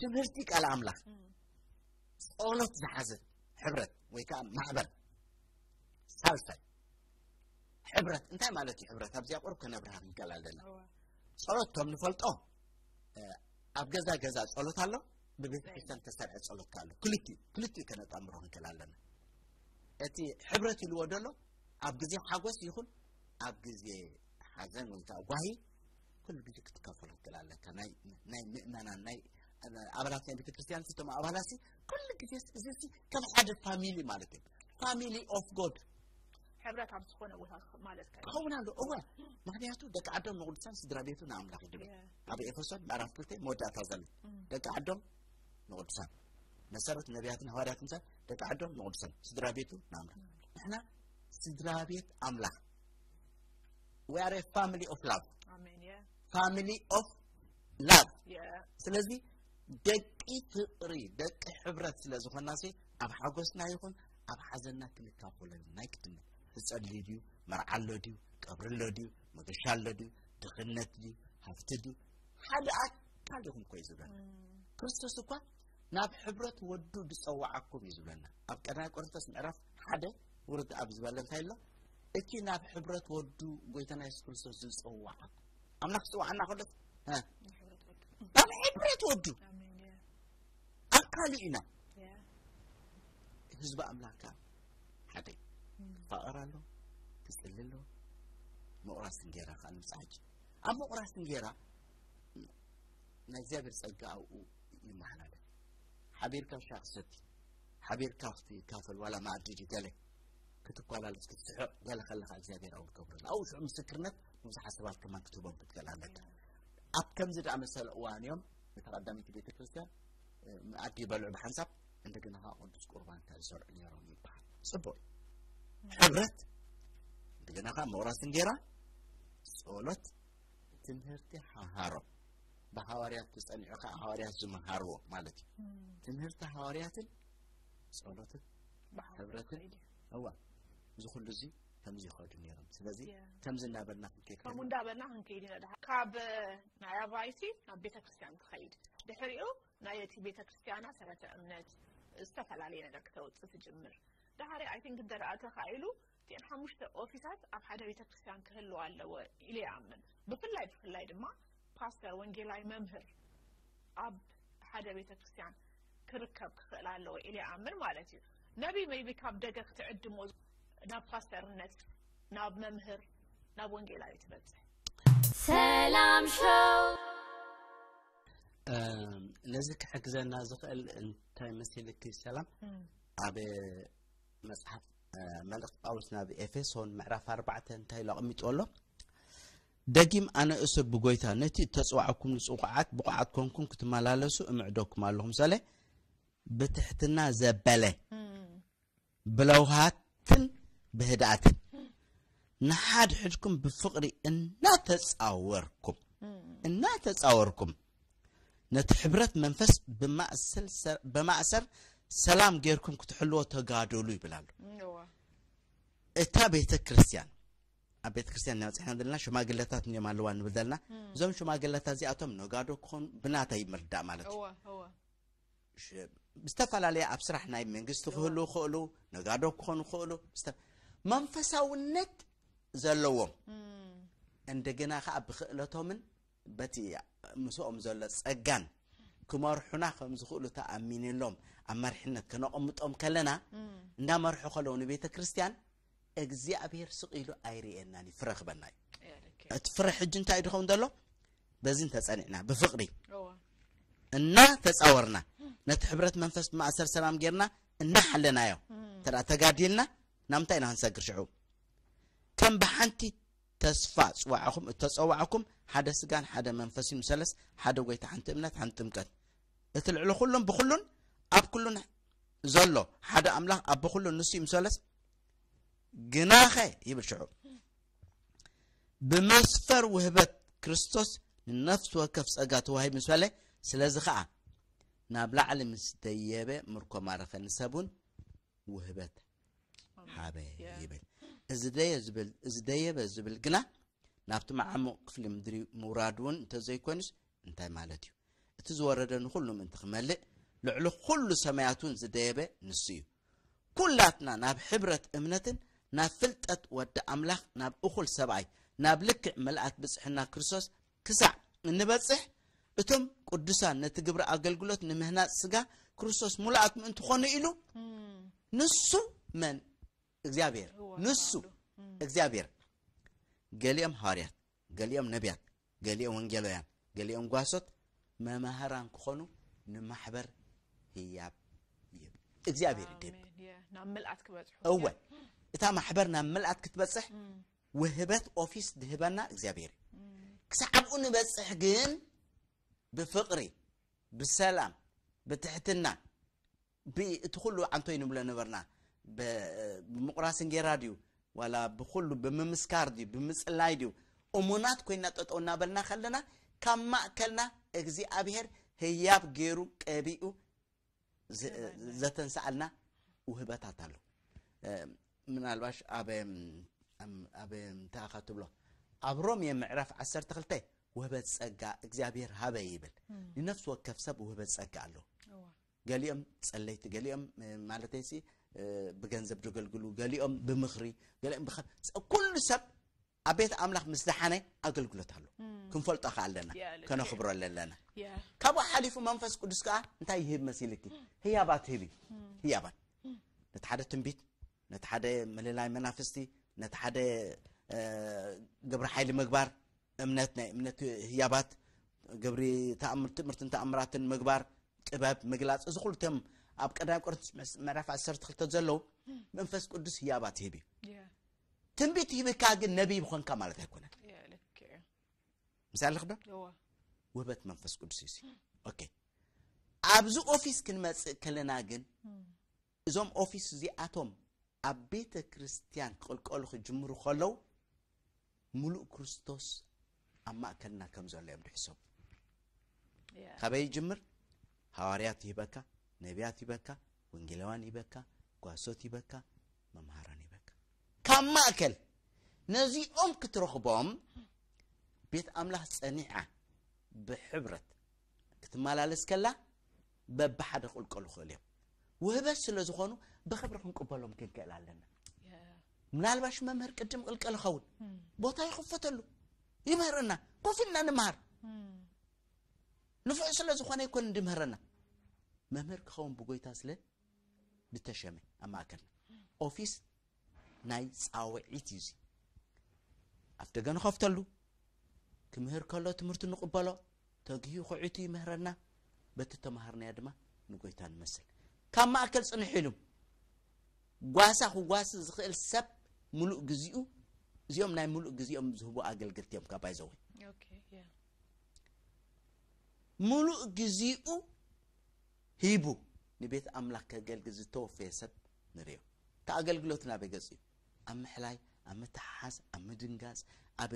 ትምህርቲ ቃል ኣምላኽ፣ ጸሎት ዝሓዘ ሕብረት ወይ ከዓ ማሕበር። ሳልሳይ፣ ሕብረት እንታይ ማለት እዩ? ሕብረት ኣብዚኣ ቁሩብ ከነብርሃ ክንከል ኣለና። ጸሎት ከም ንፈልጦ ኣብ ገዛ ገዛ ጸሎት ኣሎ፣ ብቤተ ክርስቲያን ተሰርዐ ጸሎት ኣሎ። ክልቲኡ ክልቲኡ ከነጣምሮ ክንከል ኣለና። እቲ ሕብረት ኢልዎ ደሎ ኣብ ግዜ ሓጎስ ይኹን ኣብ ግዜ ሓዘን ወይ ከዓ ጓሂ ኩሉ ግዜ ክትካፈሎ ትክእል ኣለካ። ናይ ናይ ምእመናን ናይ ኣባላት ናይ ቤተክርስትያን እቶም ኣባላት ኩሉ ግዜ እዚ ከም ሓደ ፋሚሊ ማለት እዩ። ፋሚሊ ኦፍ ጎድ ሕብረት ኣብ ዝኾነ ቦታ ማለት ክኸውን ኣሎ። እወ፣ ምክንያቱ ደቂ ዓዶም ንቅዱሳን ስድራ ቤቱ ንኣምላኽ ይድብል። ኣብ ኤፌሶን ምዕራፍ ክልተ መወዳእታ ዘሎ ደቂ ዓዶም ንቅዱሳን መሰረት ነቢያትን ሃዋርያትን ምሳል ደቂ ዓዶም ንቅዱሳን ስድራ ቤቱ ንኣምላኽ። ንሕና ስድራ ቤት ኣምላኽ። We are a family of love. Amen. Yeah. Family of love. Yeah. ስለዚ ደቂ ፍቅሪ ደቂ ሕብረት ስለ ዝኾና ሲ ኣብ ሓጎስና ይኹን ኣብ ሓዘንና ክንካፈሎ ናይ ግድነት። ህፀ ድዩ፣ መርዓ ኣሎ ድዩ፣ ቀብሪ ኣሎ ድዩ፣ መገሻ ኣሎ ድዩ፣ ድኽነት ድዩ፣ ሃፍቲ ድዩ፣ ሓደ ኣካል ኢኹም እኮ እዩ ዝብለና። ክርስቶስ እኳ ናብ ሕብረት ወዱ ዝጸዋዓኩም እዩ ዝብለና። ኣብ ቀዳማይ ቆሮንቶስ ምዕራፍ ሓደ ውርድ ኣብ ዝበለ እንታይ ኣሎ? እቲ ናብ ሕብረት ወዱ ጎይታና የሱስ ክርስቶስ ዝጸዋዓኩም። ኣምላኽ ዝጸዋዓና ከሎ ናብ ሕብረት ወዱ ኣካሉ ኢና። ህዝቢ ኣምላኽ ከዓ ሓደ እዩ። ክፋቐር ኣሎ፣ ክጽሊ ኣሎ። ምቑራስ እንጌራ ከዓ ንምጻሕ ሕጂ ኣብ ምቑራስ እንጌራ ናይ እግዚኣብሔር ጸጋ ኣብኡ ይመሓላለፍ። ሓቢርካ ሻሂ ክትሰቲ፣ ሓቢርካ ክትካፈል ዋላ መኣዲ ድዩ ገለ ክትኳላለስ ክትስሕቕ ገለ ከለኻ እግዚኣብሔር ኣብኡ ክገብረሉ ኣብኡ ሽዑ ምስክርነት ንብዙሓት ሰባት ከማን ክትህቦም ክትክእል ኣለካ። ኣብ ከምዚ ደኣ መሰለ እዋን እዮም እታ ቀዳመይቲ ቤተ ክርስቲያን መኣዲ ይበልዑ ብሓንሳብ እንደገና ከዓ ቅዱስ ቁርባን ከኣ ዝሰርዑ ነይሮም ይበሃል። ጽቡቅ ሕብረት እንደገና ከዓ ምቑራስ እንጌራ፣ ጸሎት፣ ትምህርቲ ሃሃሮም ብሃዋርያት ተጸኒዑ ከዓ ሃዋርያት ዝመሃርዎ ማለት እዩ። ትምህርቲ ሃዋርያትን ጸሎትን ሕብረትን እዋ እዚ ኩሉ እዚ ከምዚ ይኸዱ ነይሮም። ስለዚ ከምዚ እናበልና ክንከይድ ከምኡ እንዳበልና ክንከይድ ኢና። ካብ ናይ ኣባይቲ ናብ ቤተ ክርስቲያን ትኸይድ፣ ድሕሪኡ ናይ እቲ ቤተ ክርስቲያና ሰረተ እምነት ዝተፈላለየ ነገር ክተውፅእ ትጅምር። ድሓሪ ኣይ ቲንክ እንተ ደኣ ተኻኢሉ እቲአን ሓሙሽተ ኦፊሳት ኣብ ሓደ ቤተ ክርስቲያን ክህልዋ ኣለዎ ኢለ ይኣምን። ብፍላይ ብፍላይ ድማ ፓስተር፣ ወንጌላዊ፣ መምህር ኣብ ሓደ ቤተ ክርስቲያን ክርከብ ክኽእል ኣለዎ ኢለ ይኣምን ማለት እዩ። ነቢ ሜይቢ ካብ ደገ ክትዕድሞ ናብ ፓስተርነት፣ ናብ መምህር፣ ናብ ወንጌላዊ ትበጽሕ። ሰላም ሾው ነዚ ክሕግዘና ዝኽእል እንታይ መሲልኪ ሰላም? ኣብ መጽሓፍ መልእኽቲ ጳውሎስ ናብ ኤፌሶን ምዕራፍ ኣርባዕተ እንታይ ኢሉ ኣቐሚጡ ኣሎ? ደጊም ኣነ እሱር ብጎይታ ነቲ እተጽዋዕኩም ንጽውዓት ብቑዓት ኮንኩም ክትመላለሱ እምዕደኩም ኣለኹ ምሳሌ ብትሕትና ዘበለ ብለውሃትን ብህድኣትን ንሓድሕድኩም ብፍቕሪ እናተጻወርኩም እናተጻወርኩም ነቲ ሕብረት መንፈስ ብማእሰር ሰላም ጌርኩም ክትሕልዎ ተጋደሉ ይብል ኣሎ። እታ ቤተ ክርስቲያን ኣብ ቤተ ክርስቲያን እናበፅሕና ዘለና ሽማግለታት እዮም ኣለዋ ንብል ዘለና። እዞም ሽማግለታት እዚኣቶም ነጋዶ ክኾኑ ብናተይ ምርዳእ ማለት እዩ። ዝተፈላለየ ኣብ ስራሕ ናይ መንግስቲ ክህሉ ክእሉ ነጋዶ ክኾኑ ክእሉ መንፈሳውነት ዘለዎም እንደገና ከዓ ብክእለቶምን በቲ ምስኦም ዘሎ ጸጋን ክመርሑና ከም ዝኽእሉ ተኣሚንሎም ኣብ መሪሕነት ከነቐምጦም ከለና እንዳመርሑ ከለዉ ንቤተ ክርስቲያን እግዚኣብሔር ስቕ ኢሉ ኣይርእየናን እዩ፣ ፍረ ክበና እዩ። እቲ ፍረ ሕጂ እንታይ ድኸውን ዘሎ? በዚ እንተጸኒዕና ብፍቕሪ እና ተጻወርና ነቲ ሕብረት መንፈስ ብማእሰር ሰላም ጌርና እናሓለናዮ እንተ ተጋዲልና ናብ ምንታይ ኢና ክንሰግር ሽዑ? ከም ብሓንቲ ተስፋ ጽዋዕኹም እተጸዋዕኩም ሓደ ስጋን ሓደ መንፈስን ምሰለስ ሓደ ጎይታ ሓንቲ እምነት ሓንቲ ጥምቀት እቲ ልዕሊ ኩሉን ብኩሉን ኣብ ኩሉን ዘሎ ሓደ ኣምላኽ ኣቦ ኩሉ ንሱ እዩ ምሰለስ ግናኸ ይብል ሽዑ ብመስፈር ውህበት ክርስቶስ ንነፍሲ ወከፍ ጸጋ ተዋሂብ ምስ በለ ስለዚ ኸኣ ናብ ላዕሊ ምስ ደየበ ምርኮ ማረኸ ንሰብ እውን ውህበት ሃበ ይብል። እዚ ደየ ዝብል እዚ ደየበ ዝብል ግና ናብቲ መዓሙቕ ክፍሊ ምድሪ ምውራድ እውን እንተዘይኮይኑስ እንታይ ማለት እዩ? እቲ ዝወረደ ንኹሉ ምእንቲ ክመልእ፣ ልዕሊ ኩሉ ሰማያት እውን ዝደየበ ንሱ እዩ። ኩላትና ናብ ሕብረት እምነትን ናብ ፍልጠት ወዲ ኣምላኽ፣ ናብ እኹል ሰብኣይ፣ ናብ ልክዕ ምልኣት ብጽሕና ክርስቶስ ክሳዕ እንበጽሕ፣ እቶም ቅዱሳን ነቲ ግብሪ ኣገልግሎት ንምህናጽ ስጋ ክርስቶስ ሙሉኣት ምእንቲ ኾኑ ኢሉ፣ ንሱ መን እግዚኣብሔር፣ ንሱ እግዚኣብሔር፣ ገሊኦም ሃዋርያት፣ ገሊኦም ነቢያት፣ ገሊኦም ወንጌላውያን፣ ገሊኦም ጓሶት፣ መማህራን ክኾኑ ንማሕበር ህያብ ይህብ እግዚኣብሔር ይደብ። ናብ ምልኣት ክበጽሑ እወ፣ እታ ማሕበር ናብ ምልኣት ክትበጽሕ ውህበት ኦፊስ ድህበና እግዚኣብሔር እዩ። ክሳዕ ኣብኡ ንበጽሕ ግን ብፍቕሪ፣ ብሰላም፣ ብትሕትና፣ እቲ ኩሉ ዓንቶይ ንብሎ ነበርና። ብምቁራስ እንጌራ ድዩ ዋላ ብኩሉ ብምምስካር ድዩ ብምጽላይ ድዩ እሙናት ኮይና ጠጠው እናበልና ከለና፣ ካብ ማእከልና እግዚኣብሔር ህያብ ገይሩ ቀቢኡ ዘተንስኣልና ውህበታት ኣሎ። ምናልባሽ ኣብ እንታይ ኢኻ ትብሎ? ኣብ ሮሜ ምዕራፍ ዓሰርተ ክልተ ውህበት ጸጋ እግዚኣብሔር ሃበ ይብል። ንነፍሲ ወከፍ ሰብ ውህበት ጸጋ ኣሎ። ገሊኦም ጸለይቲ፣ ገሊኦም ማለተይሲ ብገንዘብ ዘገልግሉ፣ ገሊኦም ብምኽሪ፣ ገሊኦም ብኸ- ኩሉ ሰብ ኣብ ቤት ኣምላኽ ምስ ደሓነ ኣገልግሎት ኣሎ። ክንፈልጦ ከኣ ኣለና፣ ከነኽብሮ ኣለና። ካብኡ ሓሊፉ መንፈስ ቅዱስ ከኣ እንታይ ይህብ መሲልኪ? ህያባት ህብ እዩ። ህያባት፣ ነቲ ሓደ ትንቢት፣ ነቲ ሓደ ምልላይ መናፍስቲ፣ ነቲ ሓደ ግብሪ ሓይሊ ምግባር፣ እምነት፣ ናይ እምነት ህያባት፣ ግብሪ ትእምርትን ተኣምራትን ምግባር፣ ጥበብ ምግላፅ፣ እዚ ኩሉ እቶም ኣብ ቀዳማይ ቆሮንቶስ ምዕራፍ ዓሰርተ ክልተ ዘለዉ መንፈስ ቅዱስ ህያባት ይህብ እዩ። ትንቢት ይህብካ ግን ነቢይ ምኾንካ ማለት ኣይኮነን። ምሳሌ ክዶ ውህበት መንፈስ ቅዱስ እዩ። ኦኬ፣ ኣብዚ ኦፊስ ክንመፅእ ከለና ግን እዞም ኦፊስ እዚኣቶም ኣብ ቤተ ክርስቲያን ክቕልቀሉ ክጅምሩ ከለዉ ሙሉእ ክርስቶስ ኣብ ማእከልና ከም ዘሎ እዮም ድሕሰቡ። ካበይ ይጅምር? ሃዋርያት ይህበካ፣ ነቢያት ይህበካ፣ ወንጌላውያን ይህበካ፣ ጓሶት ይህበካ፣ መምሃራን ይህበካ። ካብ ማእከል ነዚኦም ክትረኽቦም ቤት ኣምላኽ ጸኒዓ ብሕብረት ክትመላለስ ከላ በብሓደ ክቕልቀሉ ይኽእሉ እዮም። ውህበት ስለ ዝኾኑ ብኽብሪ ክንቅበሎም ክንክእል ኣለና። ምናልባሽ መምህር ቅድም ቅልቀል ይኸውን፣ ቦታ ይኽፈተሉ፣ ይምህርና፣ ኮፍ ኢልና ንምሃር። ንፉዕ ስለ ዝኾነ ይኮን እንድምህረና፣ መምህር ክኸውን ብጎይታ ስለ ዝተሸመ ኣብ ማእከልና። ኦፊስ ናይ ጻውዒት እዩ። እዚ ኣፍ ደገ ንኸፍተሉ፣ ክምህር ከሎ ትምህርቱ ንቕበሎ፣ ተግሂ ክዒቱ ይምህረና። በቲ ተማሃርናዮ ድማ ንጎይታ ንመስል። ካብ ማእከል ጽንሕ ኢሉ ጓሳ ክጓሲ ዝኽእል ሰብ፣ ሙሉእ ግዚኡ፣ እዚኦም ናይ ሙሉእ ግዚኦም ዝህቡ ኣገልግልቲ እዮም። ካብ ባይዘወይ ሙሉእ ግዚኡ ሂቡ ንቤት ኣምላኽ ከገልግል ዝተወፈየ ሰብ ንርእዮ። እቲ ኣገልግሎት ናበይ ገጽ እዩ? ኣብ ምሕላይ፣ ኣብ ምትሓሓዝ፣ ኣብ ምድንጋጽ፣ ኣብ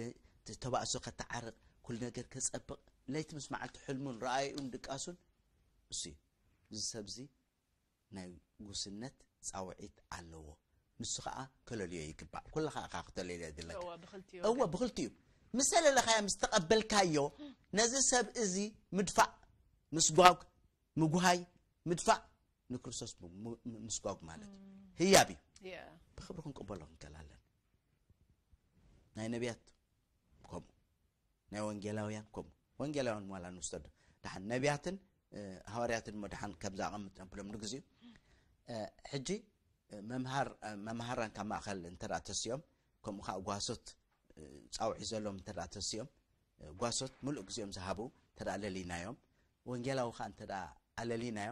ተባእሶ ከተዓርቕ፣ ኩሉ ነገር ከጸብቕ፣ ለይቲ ምስ መዓልቲ ሕልሙን ረኣይኡን ድቃሱን እሱ እዩ። እዚ ሰብዚ ናይ ጉስነት ጻውዒት ኣለዎ። ንሱ ኸኣ ከለልዮ ይግባእ። ኩልኻ ኢኻ ክተለልዮ ዘለካ። እወ፣ ብኽልቲኡ እወ፣ ብኽልቲኡ። ምስ ተለለኻዮ፣ ምስ ተቐበልካዮ፣ ነዚ ሰብ እዚ ምድፋእ፣ ምስጓግ፣ ምጉሃይ፣ ምድፋእ፣ ንክርስቶስ ም-፣ ም-፣ ምስጓግ ማለት እዩ። ህያብ እዩ። ብኽብሪ ክንቅበሎ ክንክእል ኣለና። ናይ ነቢያት ከምኡ፣ ናይ ወንጌላውያን ከምኡ። ወንጌላውያን ዋላ ንውሰዶ፣ ደሓን ነቢያትን፣ እ፣ ሃዋርያትን እሞ ደሓን ከምዛ ኣቐምጥ ነብሎም ንግዚኡ። እ፣ ሕጂ፣ እ፣ መምሃር-፣ እ፣ መምሃራን ካብ ማእከል እንተ ደኣ ተሲኦም፣ ከምኡ ኸኣ ጓሶት፣ እ፣ ጻውዒት ዘለዎም እንተ ደኣ ተሲኦም፣ እ፣ ጓሶት ምሉእ ግዜኦም ዝሃቡ እንተ ደኣ ለሊናዮም፣ ወንጌላዊ ኸኣ እንተ ደኣ ኣለሊናዮ፣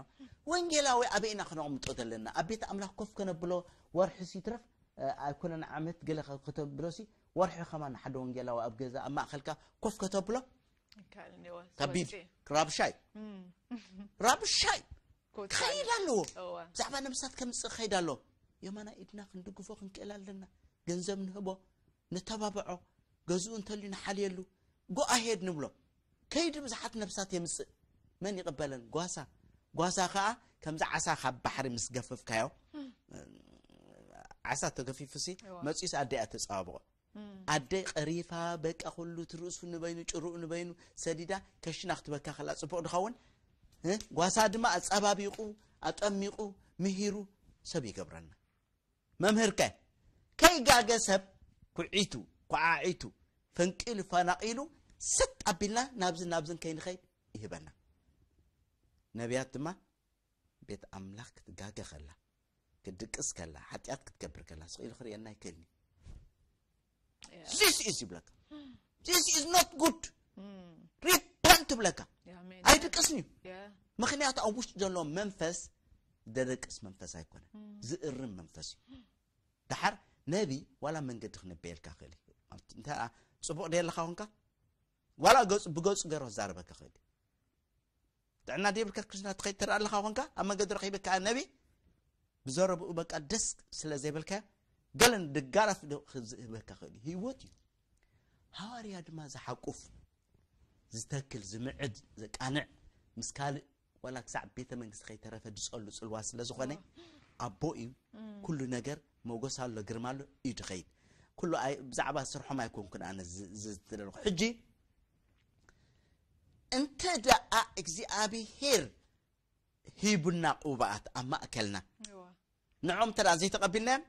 ወንጌላዊ ኣበይ ኢና ክነቕምጦ ዘለና? ኣብ ቤት ኣምላኽ ኮፍ ከነብሎ ወርሒ ሲትረፍ፣ እ፣ ኣይኮነን ዓመት ገለ ከ-፣ ከተብሎሲ፣ ወርሒ ኸማን ሓደ ወንጌላዊ ኣብ ገዛ ኣብ ማእከልካ ኮፍ ከተብሎ? ይከኣል እንዲዎ፣ ከቢድ፣ ወልቂ። ራብሻይ። እም። ራብሻይ። ኮት ክኸይድ ኣለዎ። እወ። ብዛዕባ ነብሳት ከምጽእ ክኸይድ ኣለዎ። የማና ኢድና ክንድግፎ ክንክእል ኣለና። ገንዘብ ንህቦ፣ ነተባብዖ፣ ገዝኡ እንተልዩ ንሓልየሉ። Go ahead ንብሎ። ከይዱ ብዙሓት ነብሳት የምጽእ። መን ይቕበለን? ጓሳ። ጓሳ ኸኣ ከምዚ ዓሳ ካብ ባሕሪ ምስ ገፈፍካዮ፣ ዓሳ ተገፊፉሲ፣ እወ። መጺኡስ ኣደ እያ ተጸባብቖ። እም። ኣደ ቀሪፋ፣ በቃ ኩሉ እቲ ርእሱ ንበይኑ፣ ጭርኡ ንበይኑ ሰዲዳ፣ ከሽና ክትበካ ከላ ጽቡቕ ድኸውን? እ? ጓሳ ድማ ኣጸባቢቑ፣ ኣጠሚቑ፣ ምሂሩ ሰብ ይገብረና። መምህርከ ከይጋገ ሰብ ኩዒቱ፣ ኳዓዒቱ፣ ፈንቂሉ፣ ፈናቒሉ፣ ሰጥ ኣቢልና ናብዝን ናብዝን ከይንኸይድ ይህበና። ነቢያት ድማ ቤት ኣምላኽ ክትጋገ ከላ፣ ክትድቅስ ከላ፣ ሓጢኣት ክትገብር ከላ ስቕ ኢሉ ክርእየና ኣይክእልን እዩ። This is ይብለካ። This is not good. Repent ይብለካ። ኣይድቅስን እዩ። ምክንያቱ ኣብ ውሽጡ ዘሎ መንፈስ ደደቅስ መንፈስ ኣይኮነ፣ ዝእርም መንፈስ እዩ። ደሓር ነቢ ዋላ መንገዲ ክነበየልካ ክእል እዩ። እንተ ጽቡቕ ደየለካ ኮንካ ዋላ ገጹ ብገጹ ገይሩ ክዛረበካ ክእል እዩ። ጥዕና ደይብልካ ክርስትና ትኸይድ ተርኢ ኣለኻ ኮንካ ኣብ መንገዲ ረኺበካ ነቢ ብዘረብኡ በቃ ደስ ስለ ዘይበልካ ገለን ድጋራፍ ዶ ክዝህበካ ክእል እዩ። ህይወት እዩ። ሃዋርያ ድማ ዝሓቁፍ ዝተክል ዝምዕድ ዘቃንዕ ምስ ካልእ ዋላ ክሳዕ ቤተ መንግስቲ ከይተረፈ ድጸሉ ጽልዋ ስለ ዝኾነ ኣቦ እዩ። ኩሉ ነገር መጎስ ኣሎ ግርማ ኣሎ እዩ ድኸይድ። ኩሉ ኣይ- ብዛዕባ ስርሖም ኣይኮንኩን ኣነ ዝ- ዝ- ዝደለኹ ሕጂ እንተ ደኣ እግዚኣብሄር ሂቡና ቅቡኣት ኣብ ማእከልና ንዖም ተዳ ዘይተቐቢልናዮም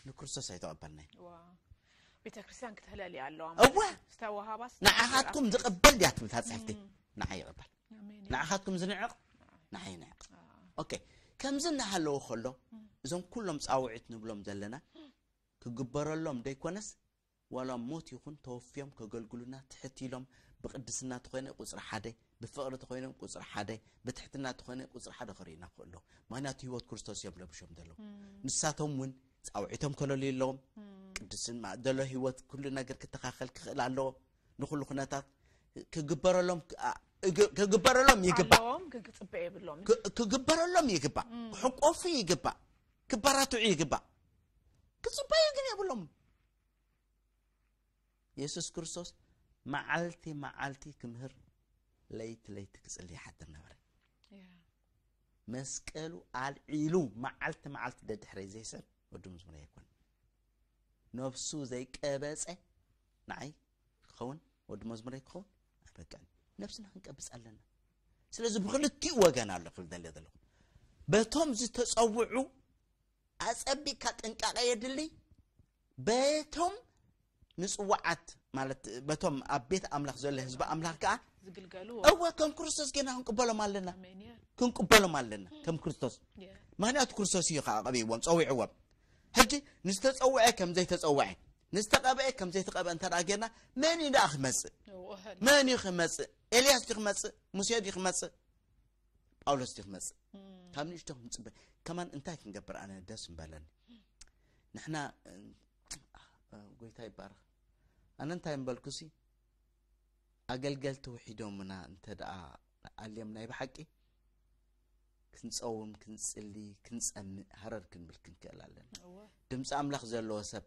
ንክርስቶስ ኣይተቐበልናዮ። ቤተ ክርስቲያን ክትህለል እያ ኣለዋ እወ ዝተዋሃባስ ንዓኻትኩም ዝቕበል ድያ ትብል እታ ጽሕፍቲ ንዓ ይቕበል ንዓኻትኩም ዝንዕቕ ንዓ ይንዕቕ። ኦኬ ከምዚ እናሃለዎ ከሎ እዞም ኩሎም ጻውዒት ንብሎም ዘለና ክግበረሎም ደይኮነስ ዋላ ሞት ይኹን ተወፍዮም ከገልግሉና ትሕት ኢሎም ብቅድስና ተኾይነ ቁፅሪ ሓደ ብፍቕሪ ተኾይኖም ቁፅሪ ሓደ ብትሕትና ተኾይነ ቁፅሪ ሓደ ክርእዩና ክእሉ ኣለዎም። ምክንያቱ ህይወት ክርስቶስ እዮም ለብሾም ዘለዉ። ንሳቶም እውን ፃውዒቶም ከለልዩ ኣለዎም። ቅድስና ዘሎ ህይወት ኩሉ ነገር ክተኻኸል ክኽእል ኣለዎ። ንኩሉ ኩነታት ክግበረሎም ክግበረሎም ይግባእ። ኣለዎም ግን ክፅበ የብሎም ክግበረሎም ይግባእ። ክሕቆፉ ይግባእ። ክበራትዑ ይግባእ። ክፅበዩ ግን የብሎምን። የሱስ ክርስቶስ መዓልቲ መዓልቲ ክምህር ለይቲ ለይቲ ክጽሊ ይሓድር ነበረ። መስቀሉ ኣልዒሉ መዓልቲ መዓልቲ ደድሕረይ ዘይስዕብ ወዲ መዝሙረይ ኣይኮነን። ነብሱ ዘይቀበጸ ንዓይ ክኸውን ወዲ መዝሙረይ ክኸውን ኣይበቅዕን። ነብስና ክንቀብጽ ኣለና። ስለዚ ብክልቲኡ ወገን ኣሎ ክብል ደልየ ዘለኹ። በቶም ዝተጸውዑ ኣጸቢቕካ ጥንቃቐ የድሊ። በቶም ንጽዋዓት ማለት በቶም ኣብ ቤት ኣምላኽ ዘሎ ህዝቢ ኣምላኽ ከኣ ዝግልገሉ እወ ከም ክርስቶስ ጌና ክንቅበሎም ኣለና ኣሜን እየ ክንቅበሎም ኣለና ከም ክርስቶስ እየ ምክንያቱ ክርስቶስ እዩ ከዓ ቀቢዎም ፀዊዕዎም ሕጂ ንዝተፀውዐ ከም ዘይተፀውዐ ንዝተቐብአ ከም ዘይተቐብአ እንተ ደኣ ጌርና መን እዩ ደኣ ክመፅእ እወ መን እዩ ክመፅእ ኤልያስ ድዩ ክመፅእ ሙሴ ድዩ ክመፅእ ጳውሎስ ድዩ ክመፅእ ካብ ንእሽቶ ክንፅበ ከማን እንታይ ክንገብር ኣነ ደስ ምበለኒ ንሕና ጎይታ ይባረክ ኣነ እንታይ ምበልኩሲ ኣገልገልቲ ውሒዶምና እንተ ደኣ ኣልዮም ናይ ብሓቂ ክንፀውም ክንፅሊ ክንፀምእ ሃረር ክንብል ክንክእል ኣለና ድምፂ ኣምላኽ ዘለዎ ሰብ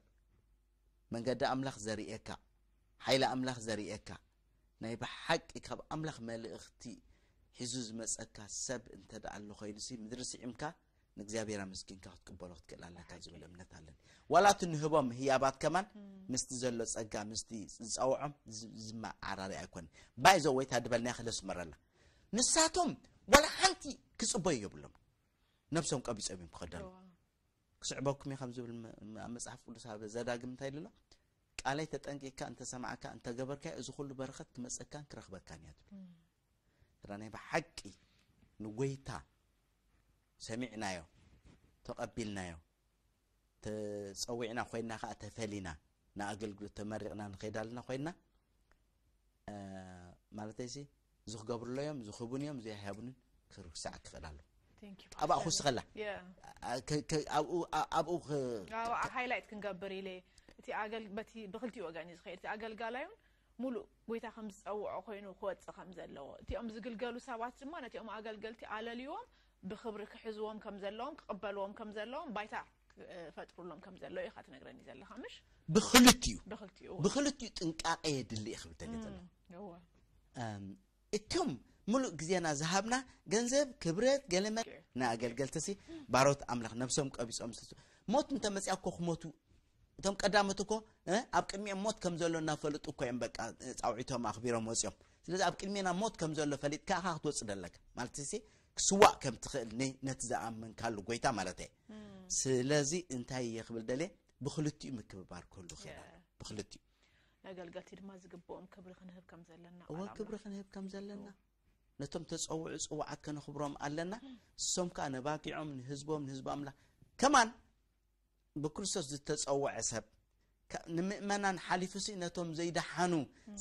መንገዲ ኣምላኽ ዘርእየካ ሓይሊ ኣምላኽ ዘርእየካ ናይ ብሓቂ ካብ ኣምላኽ መልእኽቲ ሒዙ ዝመፀካ ሰብ እንተ ደኣ ኣሎ ኮይኑሲ ምድሪ ስዒምካ ንእግዚኣብሔር ኣመስጊንካ ክትቅበሎ ክትክእል ኣለካ ዝብል እምነት ኣለኒ ዋላ እቲ ንህቦም ህያባት ከማን ምስቲ ዘሎ ፀጋ ምስቲ ዝፀውዖም ዝመዓራሪ ኣይኮነ ባይዘ ወይታ ድበልናያ ክለስመረላ ንሳቶም ዋላ ሓንቲ ክፅበዩ የብሎም ነብሶም ቀቢፆም እዮም ክኸደሉ ክስዕበኩም እዩ ከም ዝብል ኣብ መፅሓፍ ቅዱስ ኣብ ዘዳግም እንታይ ኢሉ ኣሎ ቃለይ ተጠንቂቅካ እንተሰማዕካ እንተገበርካ እዚ ኩሉ በረኸት ክመፀካን ክረኽበካን እያ ትብል ስለ ናይ ብሓቂ ንጎይታ ሰሚዕናዮ ተቐቢልናዮ ተፀዊዕና ኮይና ከዓ ተፈሊና ንኣገልግሎት ተመሪቕና ንኸይድ ኣለና ኮይና ማለተይሲ ዝክገብርሎ እዮም ዝክቡን እዮም ዘይሃቡንን ክርሳዕ ክኽእል ኣሎ ኣብኣ ክውስኸላ ኣብኡ ሃይላይት ክንገብር ኢለ እቲ በቲ ብክልቲኡ ወገን እዩ ዝኸይድ እቲ ኣገልጋላዩን ሙሉእ ጎይታ ከም ዝፀውዖ ኮይኑ ክወፅእ ከም ዘለዎ እቲኦም ዝግልገሉ ሰባት ድማ ነቲኦም ኣገልገልቲ ኣለልዎም ብክብሪ ክሕዝዎም ከም ዘለዎም ክቕበልዎም ከም ዘለዎም ባይታ ክፈጥሩሎም ከም ዘለዉ ኢኻ ትነግረኒ ዘለኻ ምሽ ብክልቲኡ ብክልቲኡ ብክልቲኡ ጥንቃቐ የድሊ ክብል ተገተለ እወ እም፣ እቶም ሙሉእ ግዜና ዝሃብና ገንዘብ ክብረት ገለመ ንኣገልገልትሲ ባሮት ኣምላኽ ነብሶም ቀቢጾም ዝስ- ሞት እንተመፅያ እኮ ክሞቱ እቶም ቀዳሞት እኮ እ፣ ኣብ ቅድሚኦም ሞት ከም ዘሎ እናፈለጡ እኮ እዮም በቃ እ፣ ፃውዒቶም ኣኽቢሮም ወፂኦም ስለዚ ኣብ ቅድሜና ሞት ከም ዘሎ ፈሊጥካ ኢኻ ክትወጽእ ደለካ። ማለት ሲ ክስዋእ ከም ትኽእል ነ-፣ ነቲ ዝኣመንካሉ ጎይታ ማለት እየ። ስለዚ እንታይ እየ ክብል ደልየ? ብኽልቲኡ ምክብባር ክህሉ ክኽእል ኣለዎ። ብኽልቲኡ። ነገልገልቲ ድማ ዝግብኦም ክብሪ ክንህብ ከም ዘለና እወ ቃል ክብሪ ኣምላኽ ክንህብ ከም ዘለና። ነቶም ተጸውዑ ጽዋዓት ከነኽብሮም ኣለና። እሶም ከኣ ነባጊዖም ንህዝቦም ንህዝቢ ኣምላኽ ከማን ብክርስቶስ ዝተጸውዐ ሰብ ከ-፣ ንምእመናን ሓሊፉሲ ነቶም ዘይደሓኑ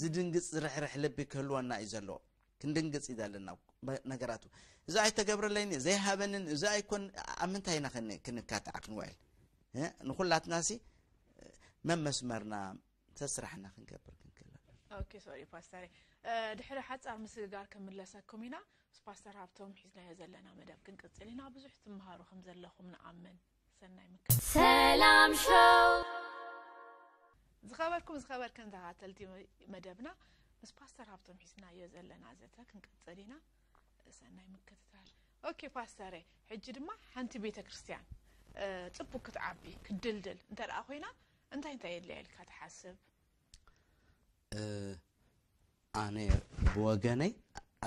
ዝድንግጽ ዝርሕርሕ ልቢ ክህልወና እዩ ዘለዎ። ክንድንግጽ እዩ ዘለና በ-፣ ነገራቱ። እዚ ኣይተገብረለይን ዘይሃበንን እዚ ኣይኮን ኣብ ምንታይ ኢና ክን-፣ ክንካታዕ ክንውዕል? እ? ንኹላትናሲ መመስመርና ተስራሕና ክንገብር ክንክእል ኣለና። ኦኬ ሶሪ ፓስተር ድሕሪ ሓፃር ምስግጋር ክምለሰኩም ኢና። ምስ ፓስተር ሃብቶም ሒዝናዮ ዘለና መደብ ክንቅፅል ኢና። ብዙሕ ትምሃሩ ከም ዘለኹም ንኣምን። ሰናይ ምክር። ሰላም ሾው ዝኸበርኩም ዝኸበርከን ተኸታተልቲ መደብና ምስ ፓስተር ሃብቶም ሒዝናዮ ዘለና ዘተ ክንቅፅል ኢና። ሰናይ ምክትታል። ኦኬ ፓስተረ፣ ሕጂ ድማ ሓንቲ ቤተ ክርስቲያን እ፣ ፅቡቅ ክትዓቢ ክትድልድል እንተ ደኣ ኮይና እንታይ እንታይ የድልያ ኢልካ ትሓስብ? እ፣ ኣነ ብወገነይ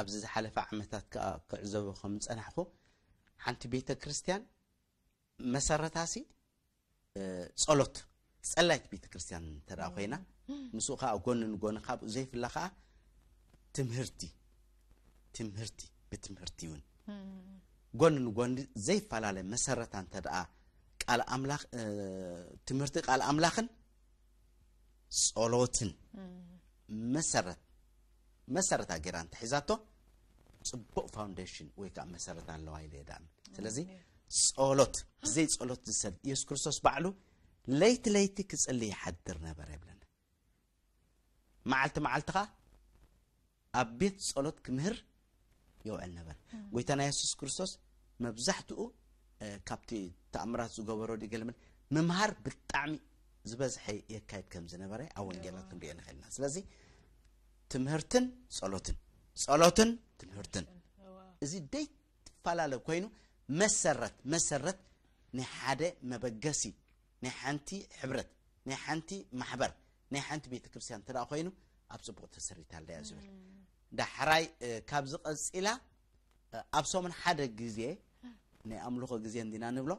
ኣብዚ ዝሓለፈ ዓመታት ከዓ ክዕዘቦ ከም ዝጸናሕኩ ሓንቲ ቤተ ክርስቲያን መሰረታሲ እ፣ ጸሎት ጸላይት ቤተ ክርስቲያን እንተ ደኣ ኮይና ምስኡ ከዓ ጎኒ ንጎኒ ካብኡ ዘይፍለ ከዓ ትምህርቲ ትምህርቲ ብትምህርቲ እውን ጎኒ ንጎኒ ዘይፈላለ መሰረታ እንተ ደኣ ቃል ኣምላኽ እ፣ ትምህርቲ ቃል ኣምላኽን ጸሎትን መሰረት መሰረታ ገይራ እንተሒዛቶ ጽቡቕ ፋውንዴሽን ወይ ከዓ መሰረት ኣለዋ ኢለ እየ ድኣምን። ስለዚ ጸሎት ብዘይ ጸሎት ዝሰል ኢየሱስ ክርስቶስ ባዕሉ ለይቲ ለይቲ ክጽሊ ይሓድር ነበረ ይብለና። መዓልቲ መዓልቲ ከዓ ኣብ ቤት ጸሎት ክምህር ይውዕል ነበር። ጎይታና የሱስ ክርስቶስ መብዛሕትኡ እ፣ ካብቲ ተኣምራት ዝገበሮ ድገልምን ምምሃር ብጣዕሚ ዝበዝሐ የካይድ ከም ዝነበረ ኣብ ወንጌላት ክንሪኦ ንኽእል ኢና። ስለዚ ትምህርትን ጸሎትን ጸሎትን ትምህርትን እዚ ደይ ትፈላለ ኮይኑ መሰረት መሰረት ናይ ሓደ መበገሲ ናይ ሓንቲ ሕብረት ናይ ሓንቲ ማሕበር ናይ ሓንቲ ቤተ ክርስቲያን እንተ ደኣ ኮይኑ ኣብ ጽቡቕ ተሰሪታ ኣለያ ዝብል ዳሕራይ እ፣ ካብዚ ቀጺላ እ፣ ኣብ ሰሙን ሓደ ግዜ ናይ ኣምልኾ ግዜ እንዲና ንብሎ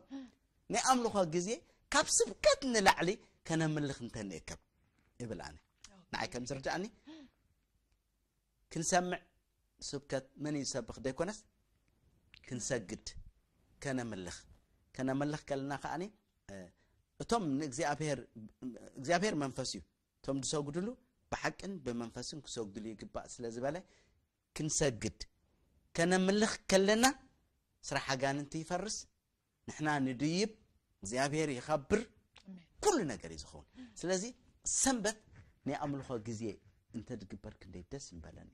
ናይ ኣምልኾ ግዜ ካብ ስብከት ንላዕሊ ከነምልኽ እንተንእከብ እብል ኣነ ንዓይ ከም ዝርድኣኒ ክንሰምዕ ስብከት መን እዩ ዝሰብኽ ዘይኮነስ ክንሰግድ ከነምልኽ ከነምልኽ ከለና ከኣኒ እ፣ እቶም ንእግዚኣብሔር እግዚኣብሔር መንፈስ እዩ እቶም ዝሰግድሉ ብሓቅን ብመንፈስን ክሰግድሉ ይግባእ ስለ ዝበለ ክንሰግድ ከነምልኽ ከለና ስራሕ ኣጋንንቲ ይፈርስ ንሕና ንድይብ እግዚኣብሔር ይኸብር ኩሉ ነገር እዩ ዝኸውን ስለዚ ሰንበት ናይ ኣምልኾ ግዜ እንተድግበር ክንደይ ደስ ምበለኒ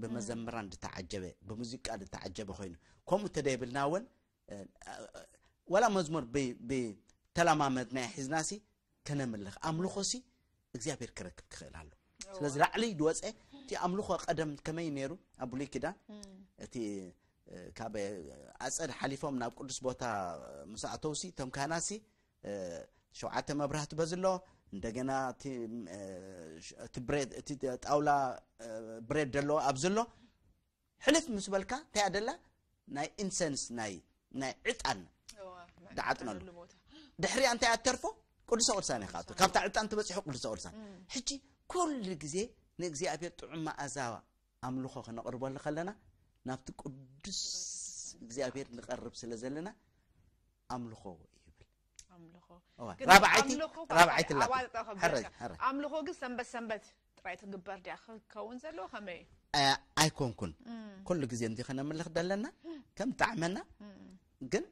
ብመዘምራን ዝተዓጀበ ብሙዚቃ ዝተዓጀበ ኮይኑ ከምኡ እንተደይብልና እውን ወላ መዝሙር ብተለማመድና ሒዝናሲ ከነምልኽ ኣምልኾሲ እግዚኣብሔር ክረክብ ክኽእል ኣሎ ስለዚ ላዕሊ ድወፀ እቲ ኣምልኾ ቀደም ከመይ ነይሩ ኣብ ብሉይ ኪዳን እቲ ካብ ኣፀድ ሓሊፎም ናብ ቅዱስ ቦታ ምስ ኣተውሲ እቶም ካህናትሲ ሸውዓተ መብራህቲ በዝሎ እንደገና እቲ ጣውላ ብሬድ ዘለዎ ኣብዚ ኣሎ ሕልፍ ምስ በልካ እንታይ ኣደላ ናይ ኢንሰንስ ናይ ናይ ዕጣን ድዓጥነሉ ድሕሪያ እንታይ ኣተርፎ ቅዱሰ ቅዱሳን ኢኻ ካብታ ዕጣን ትበፅሑ ቅዱሰ ቅዱሳን ሕጂ ኩሉ ግዜ ንእግዚኣብሔር ጥዑም መኣዛ ኣምልኾ ክነቕርበሉ ከለና ናብቲ ቅዱስ እግዚኣብሔር ንቐርብ ስለ ዘለና ኣምልኾ ይብል ኣምልኾ ግን ራብዓይቲ ኣምልኾ ራብዓይቲ ኣላ ኣዋልጣ ከብለካ። ሕረይ ሕረይ ኣምልኾ ግን ሰንበት ሰንበት ጥራይ ትግበር ድያ ክኸውን ዘለዎ ከመይ እዩ ኣይኮንኩን ኩሉ ግዜ እንዲ ከነምልኽ ደለና ከም ጣዕመና ግን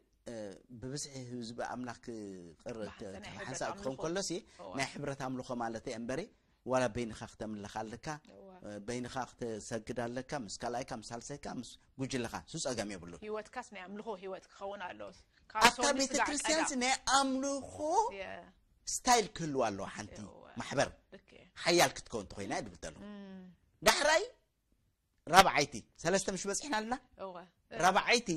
ብብዝሒ ህዝቢ ኣምላኽ ክቕር ብሓንሳብ ናይ ሕብረት ሓንሳብ ክኸውን ኣምልኾ። ከሎሲ እዋ። ናይ ሕብረት ኣምልኾ ማለት እየ እምበሪ ዋላ በይንኻ ክተምልኽ ኣለካ እዋ። በይንኻ ክትሰግድ ኣለካ ምስ ካልኣይካ ምስ ሳልሳይካ ምስ ጉጅለኻ ሱ ጸገም የብሉን ህይወትካስ ናይ ኣምልኾ ህይወት ክኸውን ኣለዎ ኣብታ ቤተ ክርስቲያንስ ናይ ኣምልኾ ስታይል ክህልዋ ኣለዎ ሓንቲ እዋ። ማሕበር ልክ እየ። ሓያል ክትከውን ተኾይና ይብል ተለኹ ዳሕራይ ራብዓይቲ ሰለስተ ምሽ በፂሕና ኣለና እወ ራብዓይቲ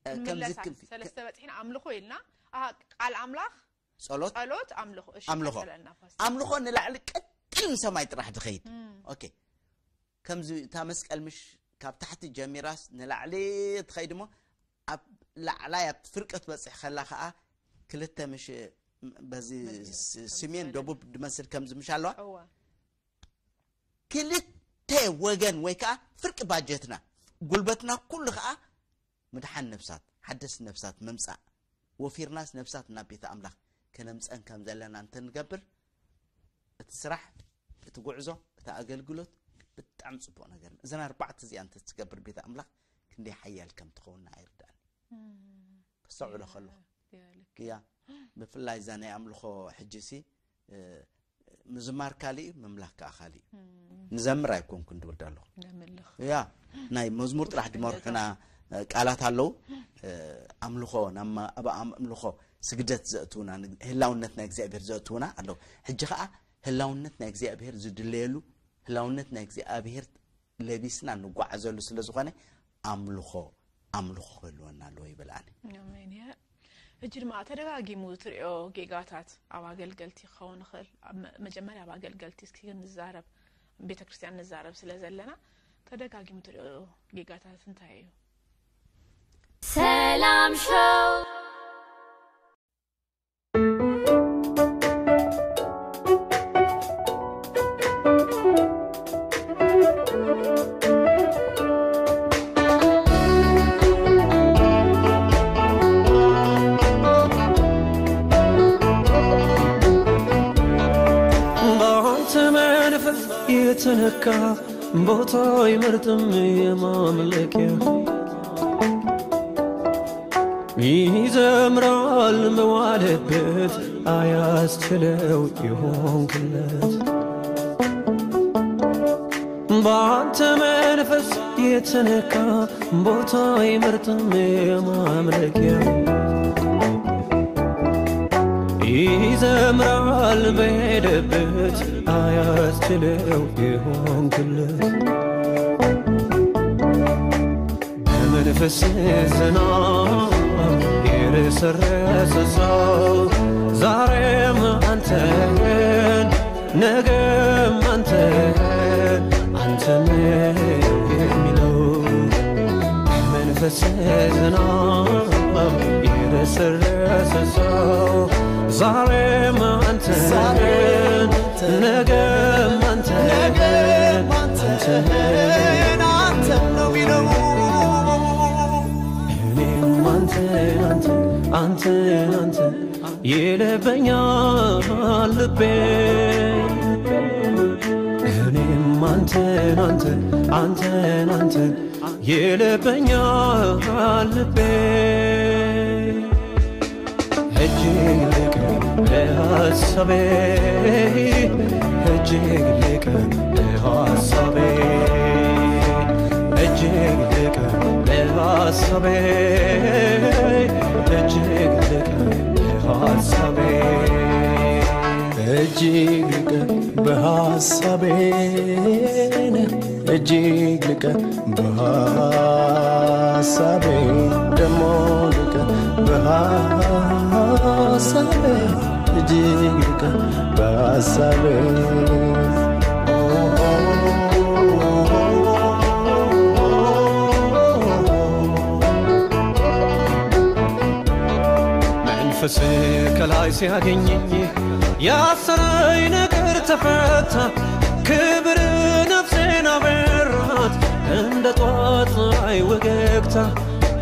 እ፣ ከምዚ ክንምለሳ ክንፊ ሰለስተ በፂሕና ኣምልኾ ኢልና ኣሃ፣ ቃል ኣምላኽ ጸሎት ጸሎት ኣምልኾ እሺ ኣምልኾ። ቀጸለልና ፓስተር። ኣምልኾ ንላዕሊ ቀጢን ሰማይ ጥራሕ ድኸይድ ኦኬ ከምዚ እታ መስቀል ምሽ ካብ ታሕቲ ጀሚራስ ንላዕሊ ትኸይድ እሞ ኣብ ላዕላይ ኣብ ፍርቂ ትበፅሕ ከላ ከዓ ክልተ ምሽ በዚ ስ- ስሜን ደቡብ ድመስል ከምዚ ምሽ ኣለዋ። ክልተ ወገን ወይ ከዓ ፍርቂ ባጀትና ጉልበትና ኩሉ ከዓ ምድሓን ነፍሳት ሓደስቲ ነፍሳት ምምፃእ ወፊርናስ ነፍሳት ናብ ቤተ ኣምላኽ ከነምፀን ከም ዘለና እንተንገብር እቲ ስራሕ እቲ ጉዕዞ እቲ ኣገልግሎት ብጣዕሚ ፅቡቅ ነገር እዩ። እዘን ኣርባዕተ እዚኣ እንተትገብር ቤተ ኣምላኽ ክንደይ ሓያል ከም ትኸውን ኣይርዳእኒ። ከስተውዕሎ ከለኹ እያ ብፍላይ እዛ ናይ ኣምልኾ ሕጂ ሲ ምዝማር ካልእ እዩ ምምላኽ ከዓ ካልእ እዩ። ንዘምር ኣይኮንኩን ድብል ኣለኹ። ያ ናይ መዝሙር ጥራሕ ድመርሑና ቃላት ኣለዉ። ኣምልኾ ናብ ኣብ ኣምልኾ ስግደት ዘእትውና ህላውነት ናይ እግዚኣብሔር ዘእትውና ኣለዉ። ሕጂ ከዓ ህላውነት ናይ እግዚኣብሔር ዝድለየሉ ህላውነት ናይ እግዚኣብሔር ለቢስና ንጓዓዘሉ ስለ ዝኾነ ኣምልኾ ኣምልኾ ክህልወና ኣለዎ ይብል ኣነ። ኣሜን። ሕጂ ድማ ተደጋጊሙ ትሪኦ ጌጋታት ኣብ ኣገልገልቲ ክኸውን ይኽእል። መጀመርያ ኣብ ኣገልገልቲ እስኪ ንዛረብ፣ ቤተ ክርስቲያን ንዛረብ ስለ ዘለና ተደጋጊሙ ትሪኦ ጌጋታት እንታይ እዩ? ሰላም ሾው። በአንተ መንፈስ የተነካ ቦታ አይመርጥም የማምለኪያ ይዘምራል መዋለበት አያስችለው የሆንክለት በአንተ መንፈስ የተነካ ቦታ አይመርጥም የማምለኪያ ይዘምራል በሄደበት አያስችለው የሆንክለት በመንፈስ ዝናብ የረሰረሰ ሰው ዛሬም አንተን ነገም አንተን አንተን የሚለው በመንፈስ ዝናብ የረሰረሰ ሰው ዛሬም አንተን ነገም አንተን አንተን አንተን ነው የሚለው እኔም አንተን አንተን አንተን አንተን ይለበኛል ልቤ እኔም አንተን አንተን አንተን አንተን ይለበኛል ልቤ እጅግ ልቅ በሐሳቤ እጅግ ልቅ በሐሳቤ እጅግ ልቅ በሐሳቤ እጅግ ልቅ በሐሳቤ እጅግ ልቅ በሐሳቤ እጅግ ልቅ በሐሳቤ ደሞ ልቅ በሐሳቤ እጅግ ልቅ በሐሳቤ መንፈስ ከላይ ሲያገኘኝ ያሰረኝ ነገር ተፈታ ክብር ነፍሴን አበራት እንደ ጧት ፀሐይ ወገግታ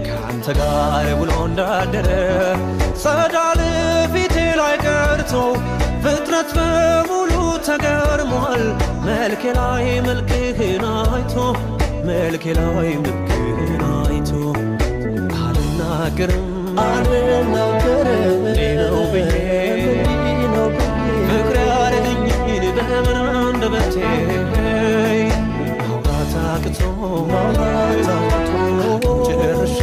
ከአንተ ጋር ውሎ እንዳደረ ጸዳል ፊቴ ላይ ቀርቶ ፍጥረት በሙሉ ተገርሟል መልኬ ላይ መልክህን አይቶ መልኬ ላይ መልክህን አይቶ አልናገርም አልናገርም እንዲህ ነው ብዬ እንዲህ ነው ብዬ ፍቅር ያረገኝን በምን አንደበቴ ማውራት አቅቶ ማውራት አቅቶ ጨርሼ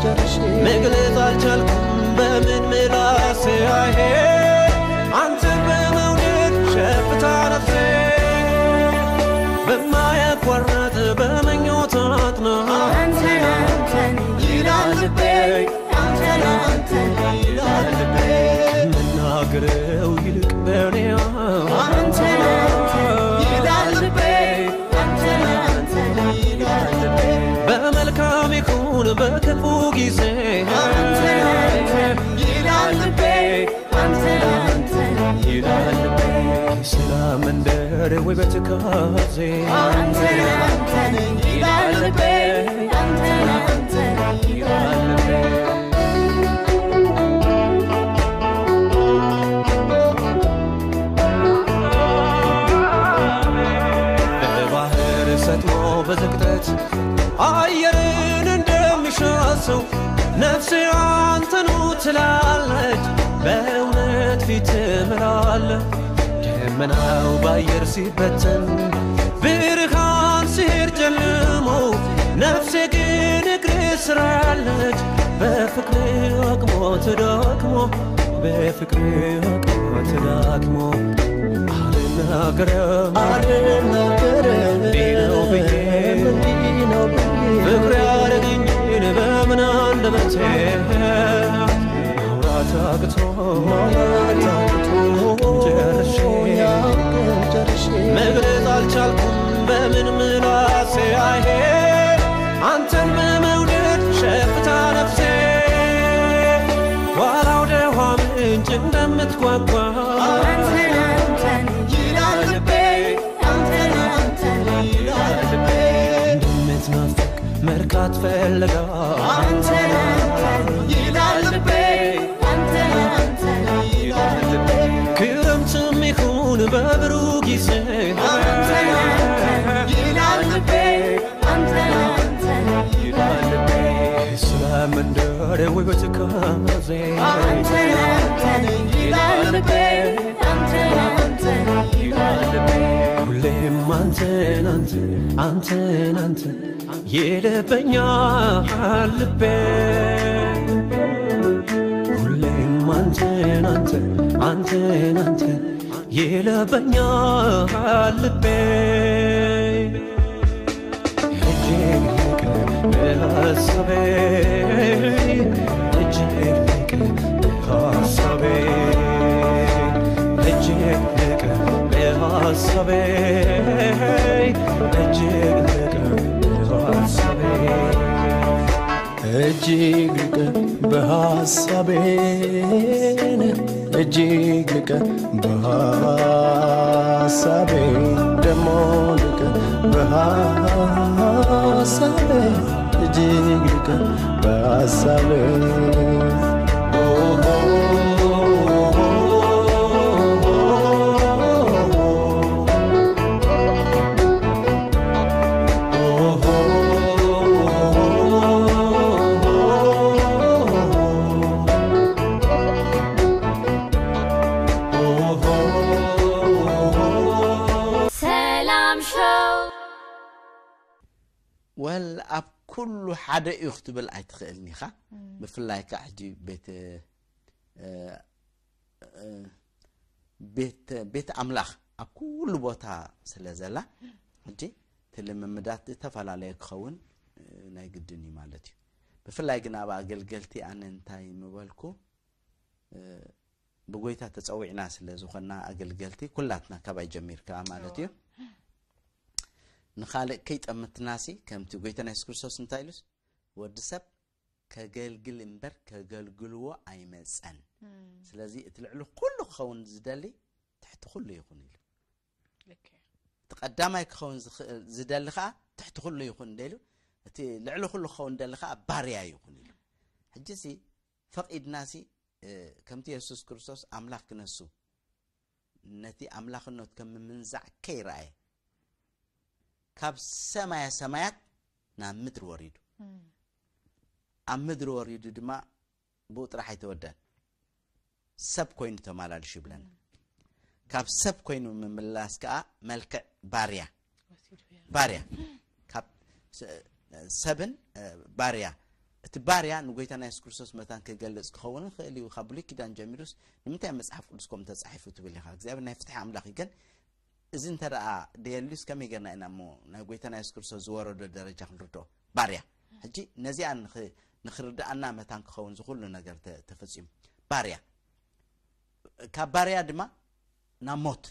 ጨርሼ መግለጽ አልቻልኩም በምን ምላሴ አይሄ አንተን በመውደድ ሸፍታ ነፍሴ በማያቋርጥ በምኞት አጥና አንተን አንተን ይላል ልቤ አንተን አንተን ይላል ልቤ ጊዜ ይላል ልቤ፣ አንተ አንተ ይላል ልቤ። ስለ መንደር ውበት ካዜ አንተ አንተ ይላል ልቤ፣ አንተ አንተ ይላል ልቤ። በባህር ሰጥሞ በዝግጠት አየርን እንደሚሻ ሰው ነፍሴ አንተኑ ትላለች፣ በእውነት ፊት እምላለሁ። ደመናው በአየር ሲበተን ብርሃን ሲሄድ ጨልሞ ነፍሴ ግን እግር ስራለች በፍቅር አቅሞ ተዳክሞ በፍቅር አቅሞ ተዳክሞ አልናገርም አልናገርም እንዲህ ነው ብዬ እንዲህ ነው ብዬ ፍቅር ያደረገኝን በምን አንደበቴ ማውራት አቅቶ ማውራት አቅቶ ጨርሼ ጨርሼ መግለጽ አልቻልኩም በምን ምላሴ አይሄ አንተን በመውደድ ሸፍታ ነፍሴ ዋላ ወደ ውሃ ምንጭ እንደምትጓጓ አንተን አንተን ይላል ልቤ አንተን አንተን ይላል ልቤ እንደምትናፍቅ መርካት ፈልጋ አንተን አንተን ይላል ልቤ አንተን አንተን ይላል ልቤ ክረምትም ይሁን በብሩህ ጊዜ አንተን አንተን ይላል ልቤ አንተን አንተን ይላል ልቤ ስለ መንደር ውበት ካዜ አንተን አንተን ይላል ልቤ አንተን አንተን ይላል ልቤ ሁሌም አንተን አንተን አንተን አንተን ይለበኛል ልቤ ሁሌም አንተን አንተን አንተን አንተን ይለበኛል ልቤ እጅግ ልቅ በሐሳቤ እጅግ ልቅ በሐሳቤ እጅግ ልቅ በሐሳቤ እጅግ ልቅ በሐሳቤ እጅግ ልቅ በሐሳቤን እጅግ ልቅ በሐሳቤ ደሞ ልቅ በሐሳቤ እጅግ ልቅ በሐሳቤ ሰላም ሾው። ወል ኣብ ኩሉ ሓደ እዩ ክትብል ኣይትኽእልን ኢኻ። ብፍላይ ከዓ ሕጂ ቤት ቤት ቤት ኣምላኽ ኣብ ኩሉ ቦታ ስለ ዘላ ሕጂ እቲ ልምምዳት ዝተፈላለየ ክኸውን ናይ ግድን እዩ ማለት እዩ። ብፍላይ ግን ኣብ ኣገልገልቲ ኣነ እንታይ ምበልኩ ብጎይታ ተጸዊዕና ስለ ዝኾንና ኣገልገልቲ ኩላትና ካባይ ጀሚርካ ማለት እዩ። ንኻልእ ከይጠምትናሲ ከምቲ ጎይታና የሱስ ክርስቶስ እንታይ ኢሉስ ወዲ ሰብ ከገልግል እምበር ከገልግልዎ ኣይመጸን። ስለዚ እቲ ልዕሊ ኩሉ ክኸውን ዝደሊ ትሕቲ ኩሉ ይኹን ኢሉ። እቲ ቀዳማይ ክኸውን ዝደሊ ከዓ ትሕቲ ኩሉ ይኹን እንደ ኢሉ እቲ ልዕሊ ኩሉ ክኸውን ዝደሊ ከዓ ባርያ ይኹን ኢሉ። ሕጂ ሲ ፈቒድናሲ ከምቲ የሱስ ክርስቶስ ኣምላኽ ክነሱ ነቲ ኣምላኽነቱ ከም ምምንዛዕ ከይረኣየ ካብ ሰማያ ሰማያት ናብ ምድሪ ወሪዱ ኣብ ምድሪ ወሪዱ ድማ ብኡ ጥራሕ ኣይተወደን ሰብ ኮይኑ ተማላልሹ ይብለና ካብ ሰብ ኮይኑ ምምላስ ከዓ መልክዕ ባርያ ባርያ ካብ ሰብን ባርያ እቲ ባርያ ንጎይታና የሱስ ክርስቶስ መታን ክገልጽ ክኸውን ይኽእል እዩ ካብ ብሉይ ኪዳን ጀሚሩስ ንምንታይ መጽሓፍ ቅዱስ ከም ተጻሒፉ ትብል ኢኻ እግዚኣብሔር ናይ ፍትሒ ኣምላኽ እዩ ግን እዚ እንተ ደኣ ደየልዩስ ከመይ ጌርና ኢና እሞ ናይ ጎይታና የሱስ ክርስቶስ ዝወረዶ ደረጃ ክንርድኦ ባርያ ሕጂ ነዚኣ ንኽርድኣና መታን ክኸውን ዝኹሉ ነገር ተፈጺሙ ባርያ ካብ ባርያ ድማ ናብ ሞት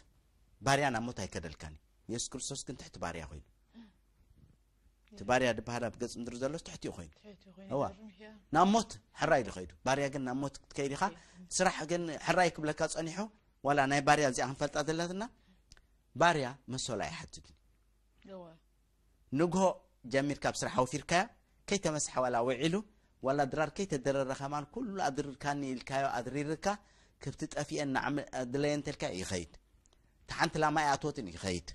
ባርያ ናብ ሞት ኣይከደልካን እዩ የሱስ ክርስቶስ ግን ትሕቲ ባርያ ኮይኑ እቲ ባርያ ዝበሃል ኣብ ገጽ ምድሪ ዘሎ ትሕቲኡ ኮይኑ እዋ ናብ ሞት ሕራይ ዶ ከይዱ። ባርያ ግን ናብ ሞት ክትከይድ ኢኻ። ስራሕ ግን ሕራይ ክብለካ ጸኒሑ። ዋላ ናይ ባርያ እዚኣ ክንፈልጣ ዘለትና፣ ባርያ መሰሉ ኣይሓትትን። ንግሆ ጀሚርካ ኣብ ስራሕ ኣውፊርካያ፣ ከይተመስሐ ዋላ ውዒሉ፣ ዋላ ድራር ከይተደረረ ከማን ኩሉ ኣድርካኒ ኢልካዮ ኣድሪርካ፣ ክብቲ ጠፊኤን ንዓም ድለየ እንተልካ ይኸይድ። ተሓንቲ ላማ ኣይኣትወትን ይኸይድ።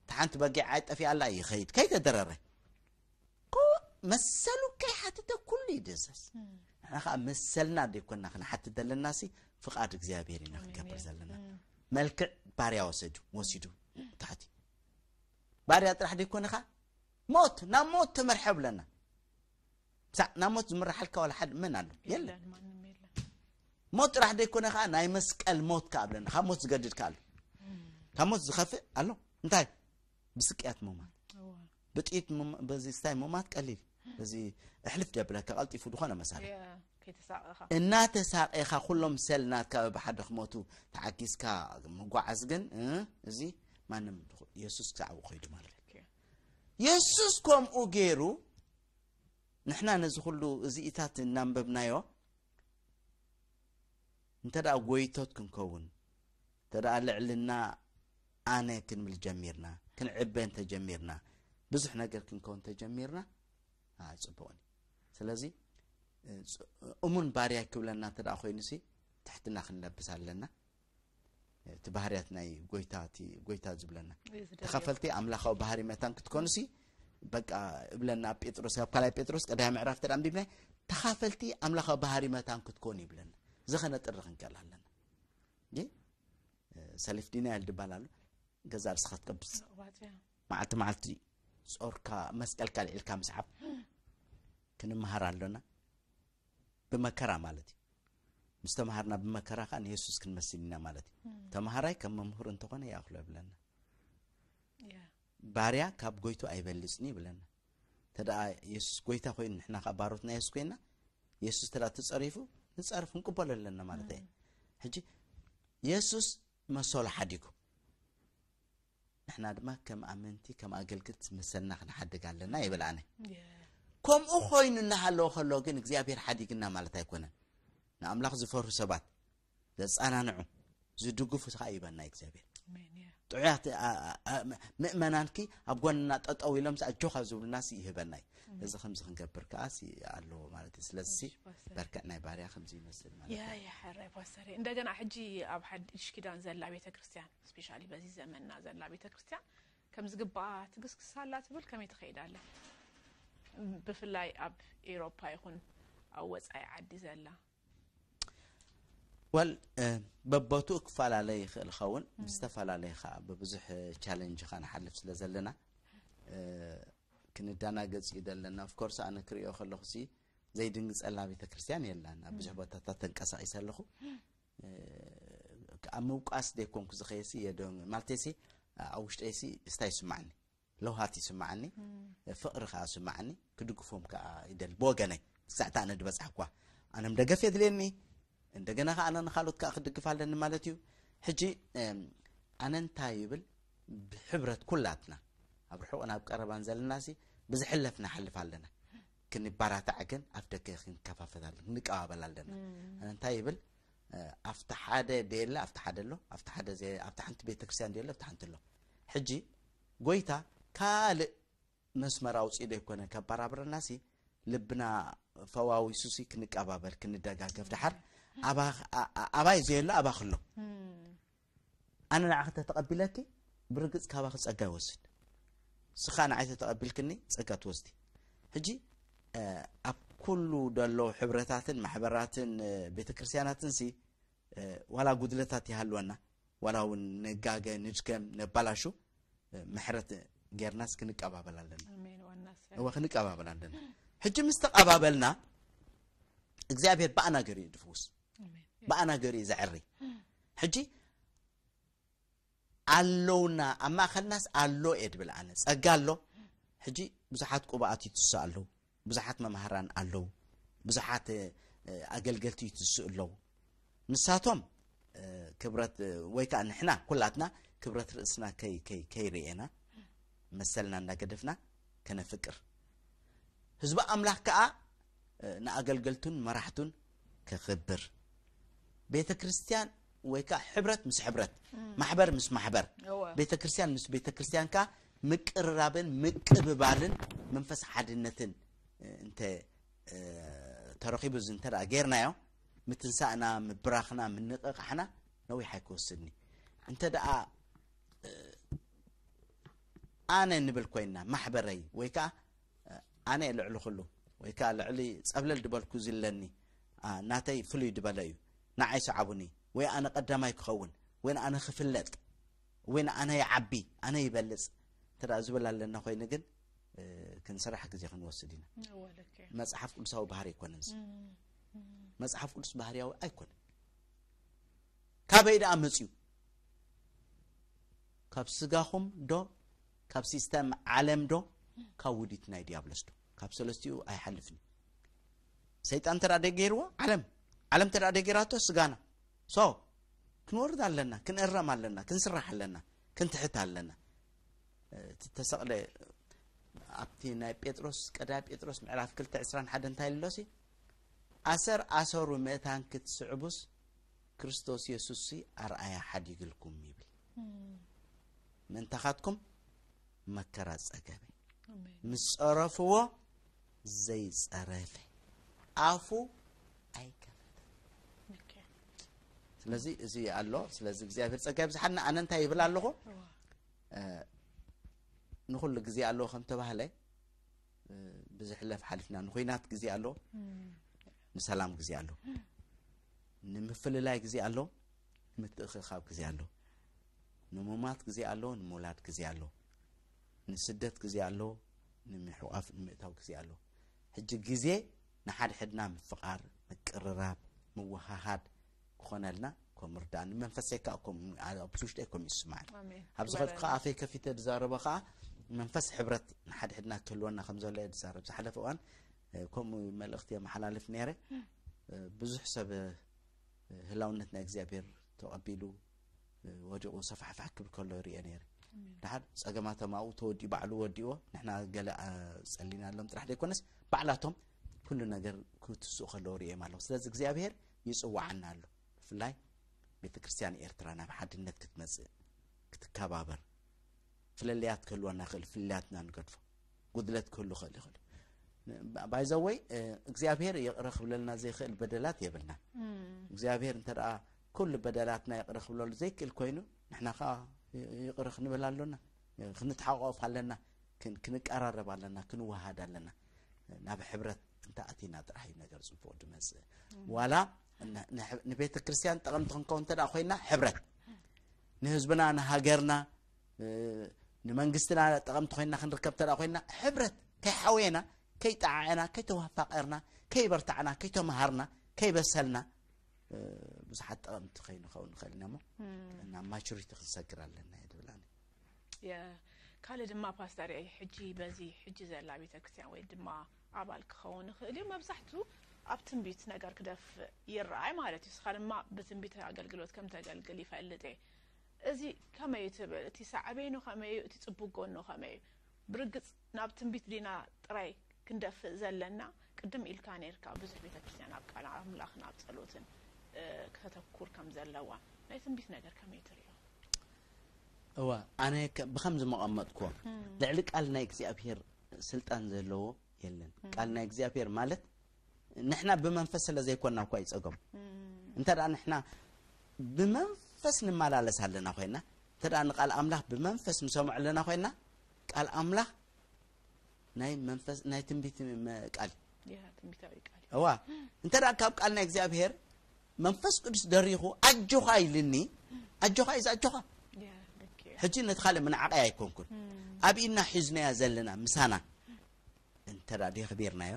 ተሓንቲ በጊዕ ኣይጠፊኣላ ይኸይድ። ከይተደረረ ኮ መሰሉ ከይሓትተ ኩሉ ይድዘዝ። ንሕና ከዓ መሰልና ደይኮና ክንሓትት ዘለና ሲ ፍቓድ እግዚኣብሔር ኢና ክንገብር ዘለና። መልክዕ ባርያ ወሰዱ ወሲዱ ታሕቲ ባርያ ጥራሕ ደይኮነ ከዓ ሞት ናብ ሞት ተመርሐ ብለና። ሳዕ ናብ ሞት ዝምርሓልካ ዋላ ሓደ መን ኣሎ? የለን። ሞት ጥራሕ ደይኮነ ከዓ ናይ መስቀል ሞት ከዓ ብለና። ካብ ሞት ዝገድድ ከዓ ኣሎ? ካብ ሞት ዝኸፍእ ኣሎ? እንታይ? ብስቅያት ምማት፣ ብጥይት ምማ- በዚ ስታይ ምማት ቀሊል፣ በዚ እሕልፍ ደብለካ ቀልጢፉ ዝኾነ መሳርሒ እናተሳቀኻ ኩሎም ሰል ናትካ በብሓደ ክሞቱ ተዓጊዝካ ምጓዓዝ ግን እ፣ እዚ ማንም ድኹ- የሱስ ክሳዕ ኣብኡ ከይዱ ማለት እዩ። የሱስ ከምኡ ገይሩ ንሕና ነዚ ኩሉ እዚኢታት እናንበብናዮ እንተ ደኣ ጎይቶት ክንከውን፣ እንተ ደኣ ልዕልና ኣነ ክንብል ጀሚርና፣ ክንዕበ እንተ ጀሚርና፣ ብዙሕ ነገር ክንከውን እንተ ጀሚርና፣ ኣይጽቡቕን እዩ። ስለዚ፣ እ፣ ጽ-፣ እሙን ባርያ ክብለና እንተ ደኣ ኮይኑሲ፣ ትሕትና ክንለብስ ኣለና። እቲ ባህርያት ናይ ጎይታ፣ እቲ ጎይታ ዝብለና፣ ተኻፈልቲ ኣምላኻዊ ባህሪ መታን ክትኮኑሲ፣ በቃ እብለና ኣብ ጴጥሮስ፣ ኣብ ካልኣይ ጴጥሮስ ቀዳማይ ምዕራፍ ተደኣ ኣንቢብናይ፣ ተኻፈልቲ ኣምላኻዊ ባህሪ መታን ክትኮኑ ይብለና። እዚ ከነጥሪ ክንክእል ኣለና። እ፣ ሰልፍ ዲናይል ድባል ኣሎ። ገዛ ርእስኻ ትቀብጽ። መዓልቲ መዓልቲ ጾርካ መስቀልካ ልዒልካ ምስዓብ ክንመሃር ኣሎና። ብመከራ ማለት እዩ። ምስ ተምሃርና ብመከራ ከኣ ንየሱስ ክንመስል ኢና ማለት እዩ። ተምሃራይ ከም መምህሩ እንተኾነ ይኣኽሎ ይብለና። ባርያ ካብ ጎይቱ ኣይበልጽን ይብለና። ተደኣ የሱስ ጎይታ ኮይኑ ንሕና ከኣ ባሮት ናይ የሱስ ኮይና፣ የሱስ ተደኣ ተጸሪፉ ንጸርፍ ክንቅበሎ ኣለና ማለት እዩ። ሕጂ የሱስ መሰሉ ሓዲጉ፣ ንሕና ድማ ከም ኣመንቲ፣ ከም ኣገልግልቲ መሰልና ክንሓድግ ኣለና ይብል ኣነ። ከምኡ ኮይኑ እናሃለወ ከሎ ግን እግዚኣብሔር ሓዲግና ማለት ኣይኮነን። ንኣምላኽ ዝፈርሁ ሰባት ዘጸናንዑ፣ ዝድግፉ ከዓ ይበና እግዚኣብሔር። ጥዑያት፣ ኣ-፣ ኣ-፣ ኣ-፣ ምእመናንኪ ኣብ ጎንና ጠጠው ኢሎም ኣጆኻ ዝብሉናሲ ይህበና እዩ። እዚ ከምዚ ክንገብር ከዓሲ ኣለዎ ማለት እዩ። ስለዚሲ በርከዕ ናይ ባርያ ከምዚ ይመስል ማለት እዩ። ያ፣ ያ፣ ሕራይ ፓስተር። እንደገና ሕጂ ኣብ ሓድሽ ኪዳን ዘላ ቤተክርስትያን፣ ስፔሻሊ በዚ ዘመንና ዘላ ቤተክርስትያን ከም ዝግባኣ ትግስግስ ኣላ ትብል ከመይ ትኸይድ ኣላ? ብፍላይ ኣብ ኤውሮፓ ይኹን ኣብ ወጻኢ ዓዲ ዘላ። ወል፣ እ፣ በቦትኡ ክፈላለ ይኽእል ኸውን፣ ብዝተፈላለየ ኸዓ ብብዙሕ ቻለንጅ ኸዓ ንሓልፍ ስለ ዘለና፣ እ፣ ክንደናገጽ እዩ ዘለና። ኦፍኮርስ ኣነ ክርእዮ ከለኹሲ ዘይድንግጸላ ቤተክርስትያን የላን። ኣብ ብዙሕ ቦታታት ተንቀሳቒሰ ኣለኹ። እ፣ ኣብ ምውቃስ ደይኮንኩ ዝኸየሲ የዶ-፣ ማለተይሲ ኣብ ውሽጠይሲ ስታይ ይስማዕኒ። ለውሃት ይስማዓኒ፣ ፍቕሪ ከኣ ይስማዓኒ፣ ክድግፎም ከኣ ይደሊ። ብወገነይ ክሳዕ እታ ኣነ ዝበጽሓኳ ኣነም ደገፍ የድልየኒ፣ እንደገና ከኣ ኣነ ንኻልኦት ከኣ ክድግፍ ኣለኒ ማለት እዩ። ሕጂ፣ እም፣ ኣነ እንታይ ይብል፣ ብሕብረት ኩላትና ኣብ ርሑቕን ኣብ ቀረባን ዘለናሲ ብዝሕለፍ ንሓልፍ ኣለና። ክንባራታዕ ግን ኣብ ደገ ክንከፋፈት ኣለና፣ ክንቀባበል ኣለና። ኣነ እንታይ ይብል፣ እ፣ ኣብቲ ሓደ ደየለ ኣብቲ ሓደ ኣሎ፣ ኣብቲ ሓደ ዘየ-፣ ኣብቲ ሓንቲ ቤተክርስትያን ደየለ ኣብቲ ሓንቲ ኣሎ። ሕጂ ጎይታ ካልእ መስመር ኣውጺኡ ዘይኮነ ከባራብረናሲ፣ ልብና ፈዋዊሱሲ ክንቀባበል፣ ክንደጋገፍ። ደሓር ኣባ-፣ ኣ-፣ ኣ-፣ ኣባይ ዘየሎ ኣባኽ ኣሎ። ኣነ ንዓኺ ተተቐቢለኪ፣ ብርግጽ ካባኺ ጸጋ ይወስድ። ንስኻ ንዓይ ተተቐቢልክኒ፣ ጸጋ ትወስዲ። ሕጂ፣ እ፣ ኣብ ኩሉ ደሎ ሕብረታትን ማሕበራትን፣ እ፣ ቤተክርስትያናትንሲ፣ እ፣ ዋላ ጉድለታት ይሃልወና፣ ዋላ እውን ንጋገ፣ ንድከም፣ ነባላሹ፣ እ፣ ምሕረት ጌርናስ ክንቀባበል ኣለና። ኣሜን። ዋናስ እወ፣ ክንቀባበል ኣለና። ሕጂ ምስ ተቐባበልና፣ እግዚኣብሔር ብኣና ገሩ እዩ ድፍውስ። ኣሜን። ብኣና ገሩ እዩ ዘዕሪ። ሕጂ ኣለውና፣ ኣብ ማእኸልናስ ኣሎ እየ ድብል ኣነ። ጸጋ ኣሎ። ሕጂ ብዙሓት ቅቡኣት ይትስኡ ኣለዉ። ብዙሓት መማህራን ኣለዉ። ብዙሓት፣ እ፣ ኣገልገልቲ ይትስኡ ኣለዉ። ንሳቶም፣ እ፣ ክብረት፣ እ፣ ወይ ከኣ ንሕና ኩላትና ክብረት ርእስና ከይ-፣ ከይ-፣ ከይርእየና መሰልና እንዳገደፍና ከነፍቅር፣ ህዝቢ ኣምላኽ ከዓ ንኣገልገልቱን መራሕቱን ከኽብር፣ ቤተ ክርስቲያን ወይ ከዓ ሕብረት ምስ ሕብረት፣ ማሕበር ምስ ማሕበር፣ ቤተ ክርስቲያን ምስ ቤተ ክርስቲያን ከዓ ምቅርራብን ምቅብባልን መንፈስ ሓድነትን እንተ ተረኺቡ እዚ እንተ ጌርናዮ፣ ምትንሳእና፣ ምብራኽና፣ ምንቕቓሕና ነዊሕ ኣይክወስድኒ። እንተ ደኣ ኣነ ንብል ኮይና፣ ማሕበረይ ወይ ከዓ ኣነ ልዕሊ ኩሉ ወይ ከዓ ልዕሊ ጸብለል ድበልኩ ዝለኒ ናተይ ፍሉይ ድበለ እዩ፣ ንዓይ ሰዓቡኒ፣ ወይ ኣነ ቀዳማይ ክኸውን፣ ወይ ኣነ ክፍለጥ፣ ወይ ኣነ ይዓቢ፣ ኣነ ይበልጽ እንተ ዝብል ኣለና ኮይኑ ግን ክንስራሕ ግዜ ክንወስድ ኢና። መጽሓፍ ቅዱሳዊ ባህሪ ኣይኮነን። መጽሓፍ ቅዱስ ባህርያዊ ኣይኮነን። ካበይ ደኣ መጽዩ? ካብ ስጋኹም ዶ ካብ ሲስተም ዓለም ዶ ካብ ውዲት ናይ ዲያብሎስ ዶ? ካብ ሰለስቲኡ ኣይሓልፍን። ሰይጣን ተዳ ደገይርዎ ዓለም ዓለም ተዳ ደገይራቶ ስጋና። ሶ ክንወርድ ኣለና፣ ክንእረም ኣለና፣ ክንስራሕ ኣለና፣ ክንትሕት ኣለና። እቲ ተሰቕለ ኣብቲ ናይ ጴጥሮስ ቀዳይ ጴጥሮስ ምዕራፍ ክልተ ዕስራን ሓደን እንታይ ኣሎ ሲ? ኣሰር ኣሰሩ ምእታን ክትስዕቡስ ክርስቶስ የሱስ ኣርኣያ ሓዲግልኩም ይብል። ምእንታኻትኩም መከራ ጸገበ። ምስ ጸረፍዎ ዘይጸረፈ ኣፉ ኣይከፈተ። ስለዚ እዚ ኣሎ። ስለዚ እግዚኣብሔር ጸጋ ይብዝሓልና። ኣነ እንታይ ይብል ኣለኹ? ንኹሉ ግዜ ኣለዎ ከም ተባህለ ብዝሕለፍ ሓሊፍና ንኹናት ግዜ ኣሎ፣ ንሰላም ግዜ ኣሎ፣ ንምፍልላይ ግዜ ኣሎ፣ ንምትእኽኻብ ግዜ ኣሎ፣ ንምማት ግዜ ኣሎ፣ ንምውላድ ግዜ ኣሎ፣ ንስደት ግዜ ኣሎ፣ ንምሕቋፍ ንምእታው ግዜ ኣሎ። ሕጂ ግዜ ንሓድሕድና ምፍቓር፣ ምቅርራብ፣ ምውሃሃድ ክኾነልና ከም ርዳእኒ። መንፈሰይ ከዓ ከም ኣብ ውሽጠይ ከም ይስማዕ። ኣብ ዝኸድኩ ከዓ ኣፈይ ከፊተ ዝዛረበ ከዓ መንፈስ ሕብረት ንሓድሕድና ክህልወና ከም ዘሎ እየ ዝዛረብ። ዝሓለፈ እዋን ከምኡ መልእኽቲ የመሓላልፍ ነይረ። ብዙሕ ሰብ ህላውነት ናይ እግዚኣብሔር ተቐቢሉ ወዲቑ ሰፋሕፋሕ ክብል ከሎ ይርኤ ነይረ። ድሓር ጸገማቶም ኣብኡ ተወዲኡ ባዕሉ ወዲእዎ ንሕና ገለ ጸሊናሎም ጥራሕ ዘይኮነስ ባዕላቶም ኩሉ ነገር ክትስኡ ከለዉ ርእዮም ኣለኹ። ስለዚ እግዚኣብሔር ይጽዋዓና ኣሎ። ብፍላይ ቤተ ክርስቲያን ኤርትራ ናብ ሓድነት ክትመጽእ፣ ክትከባበር፣ ፍልልያት ክህልወና ይኽእል፣ ፍልልያትና ንገድፎ፣ ጉድለት ክህሉ ይኽእል ይኽእል። ባይዘወይ እግዚኣብሔር ይቕረ ክብለልና ዘይኽእል በደላት የብልና። እግዚኣብሔር እንተ ደኣ ኩሉ በደላትና ይቕረ ክብለሉ ዘይክእል ኮይኑ ንሕና ከዓ ይቕረ ክንብል ኣሎና፣ ክንተሓቋቆፍ ኣለና፣ ክንቀራረብ ኣለና፣ ክንወሃድ ኣለና። ናብ ሕብረት እንተ ኣቲና ጥራሕ እዩ ነገር ፅቡቕ ድመፅእ። ዋላ ንቤተ ክርስቲያን ጠቐምቲ ክንከውን እንተ ኮይና ሕብረት ንህዝብና ንሃገርና ንመንግስትና ጠቐምቲ ኮይና ክንርከብ እንተ ኮይና ሕብረት ከይሓወየና ከይጠዓዕና ከይተዋፋቀርና ከይበርታዕና ከይተመሃርና ከይበሰልና ብዙሓት ጠቐምቲ ከይንኸውን ንኽእል ኢና እሞ ናብ ማቹሪቲ ክንሰግር ኣለና እየ ድብል ኣነ። ካልእ ድማ ፓስተር ሕጂ በዚ ሕጂ ዘላ ቤተክርስትያን ወይ ድማ ኣባል ክኸውን ይኽእል እዩ። መብዛሕቱ ኣብ ትንቢት ነገር ክደፍእ ይረኣይ ማለት እዩ። እስኻ ድማ ብትንቢት ኣገልግሎት ከም ተገልግል ይፈልጥ እየ። እዚ ከመይ እዩ ትብል? እቲ ሳዕቤኑ ከመይ እዩ? እቲ ጽቡቅ ጎኑ ከመይ እዩ? ብርግጽ ናብ ትንቢት ዲና ጥራይ ክንደፍእ ዘለና? ቅድም ኢልካ ነርካ ብዙሕ ቤተክርስትያን ኣብ ቃል ኣምላኽን ኣብ ጸሎትን ከተኩር ከም ዘለዋ ናይ ትንቢት ነገር ከመይ ትሪኦ? እዋ ኣነ ብከምዚ መቐመጥኩዎ ልዕሊ ቃል ናይ እግዚኣብሔር ስልጣን ዘለዎ የለን። ቃል ናይ እግዚኣብሔር ማለት ንሕና ብመንፈስ ስለ ዘይኮና እኳ ይጸገሙ። እንተ ደኣ ንሕና ብመንፈስ ንመላለስ ኣለና ኮይና እንተ ደኣ ንቃል ኣምላኽ ብመንፈስ ንሰምዖ ኣለና ኮይና ቃል ኣምላኽ ናይ መንፈስ ናይ ትንቢት ቃል እዋ እንተ ደኣ ካብ ቃል ናይ እግዚኣብሔር መንፈስ ቅዱስ ደሪኹ ኣጆኻ ኢልኒ ኣጆኻ ኢዝ ኣጆኻ ሕጂ ነቲ ካልእ ምንዓቐይ ኣይኮንኩን ኣብ ኢድና ሒዝናያ ዘለና ምሳና እንተ ደኣ ደኽቢርናዮ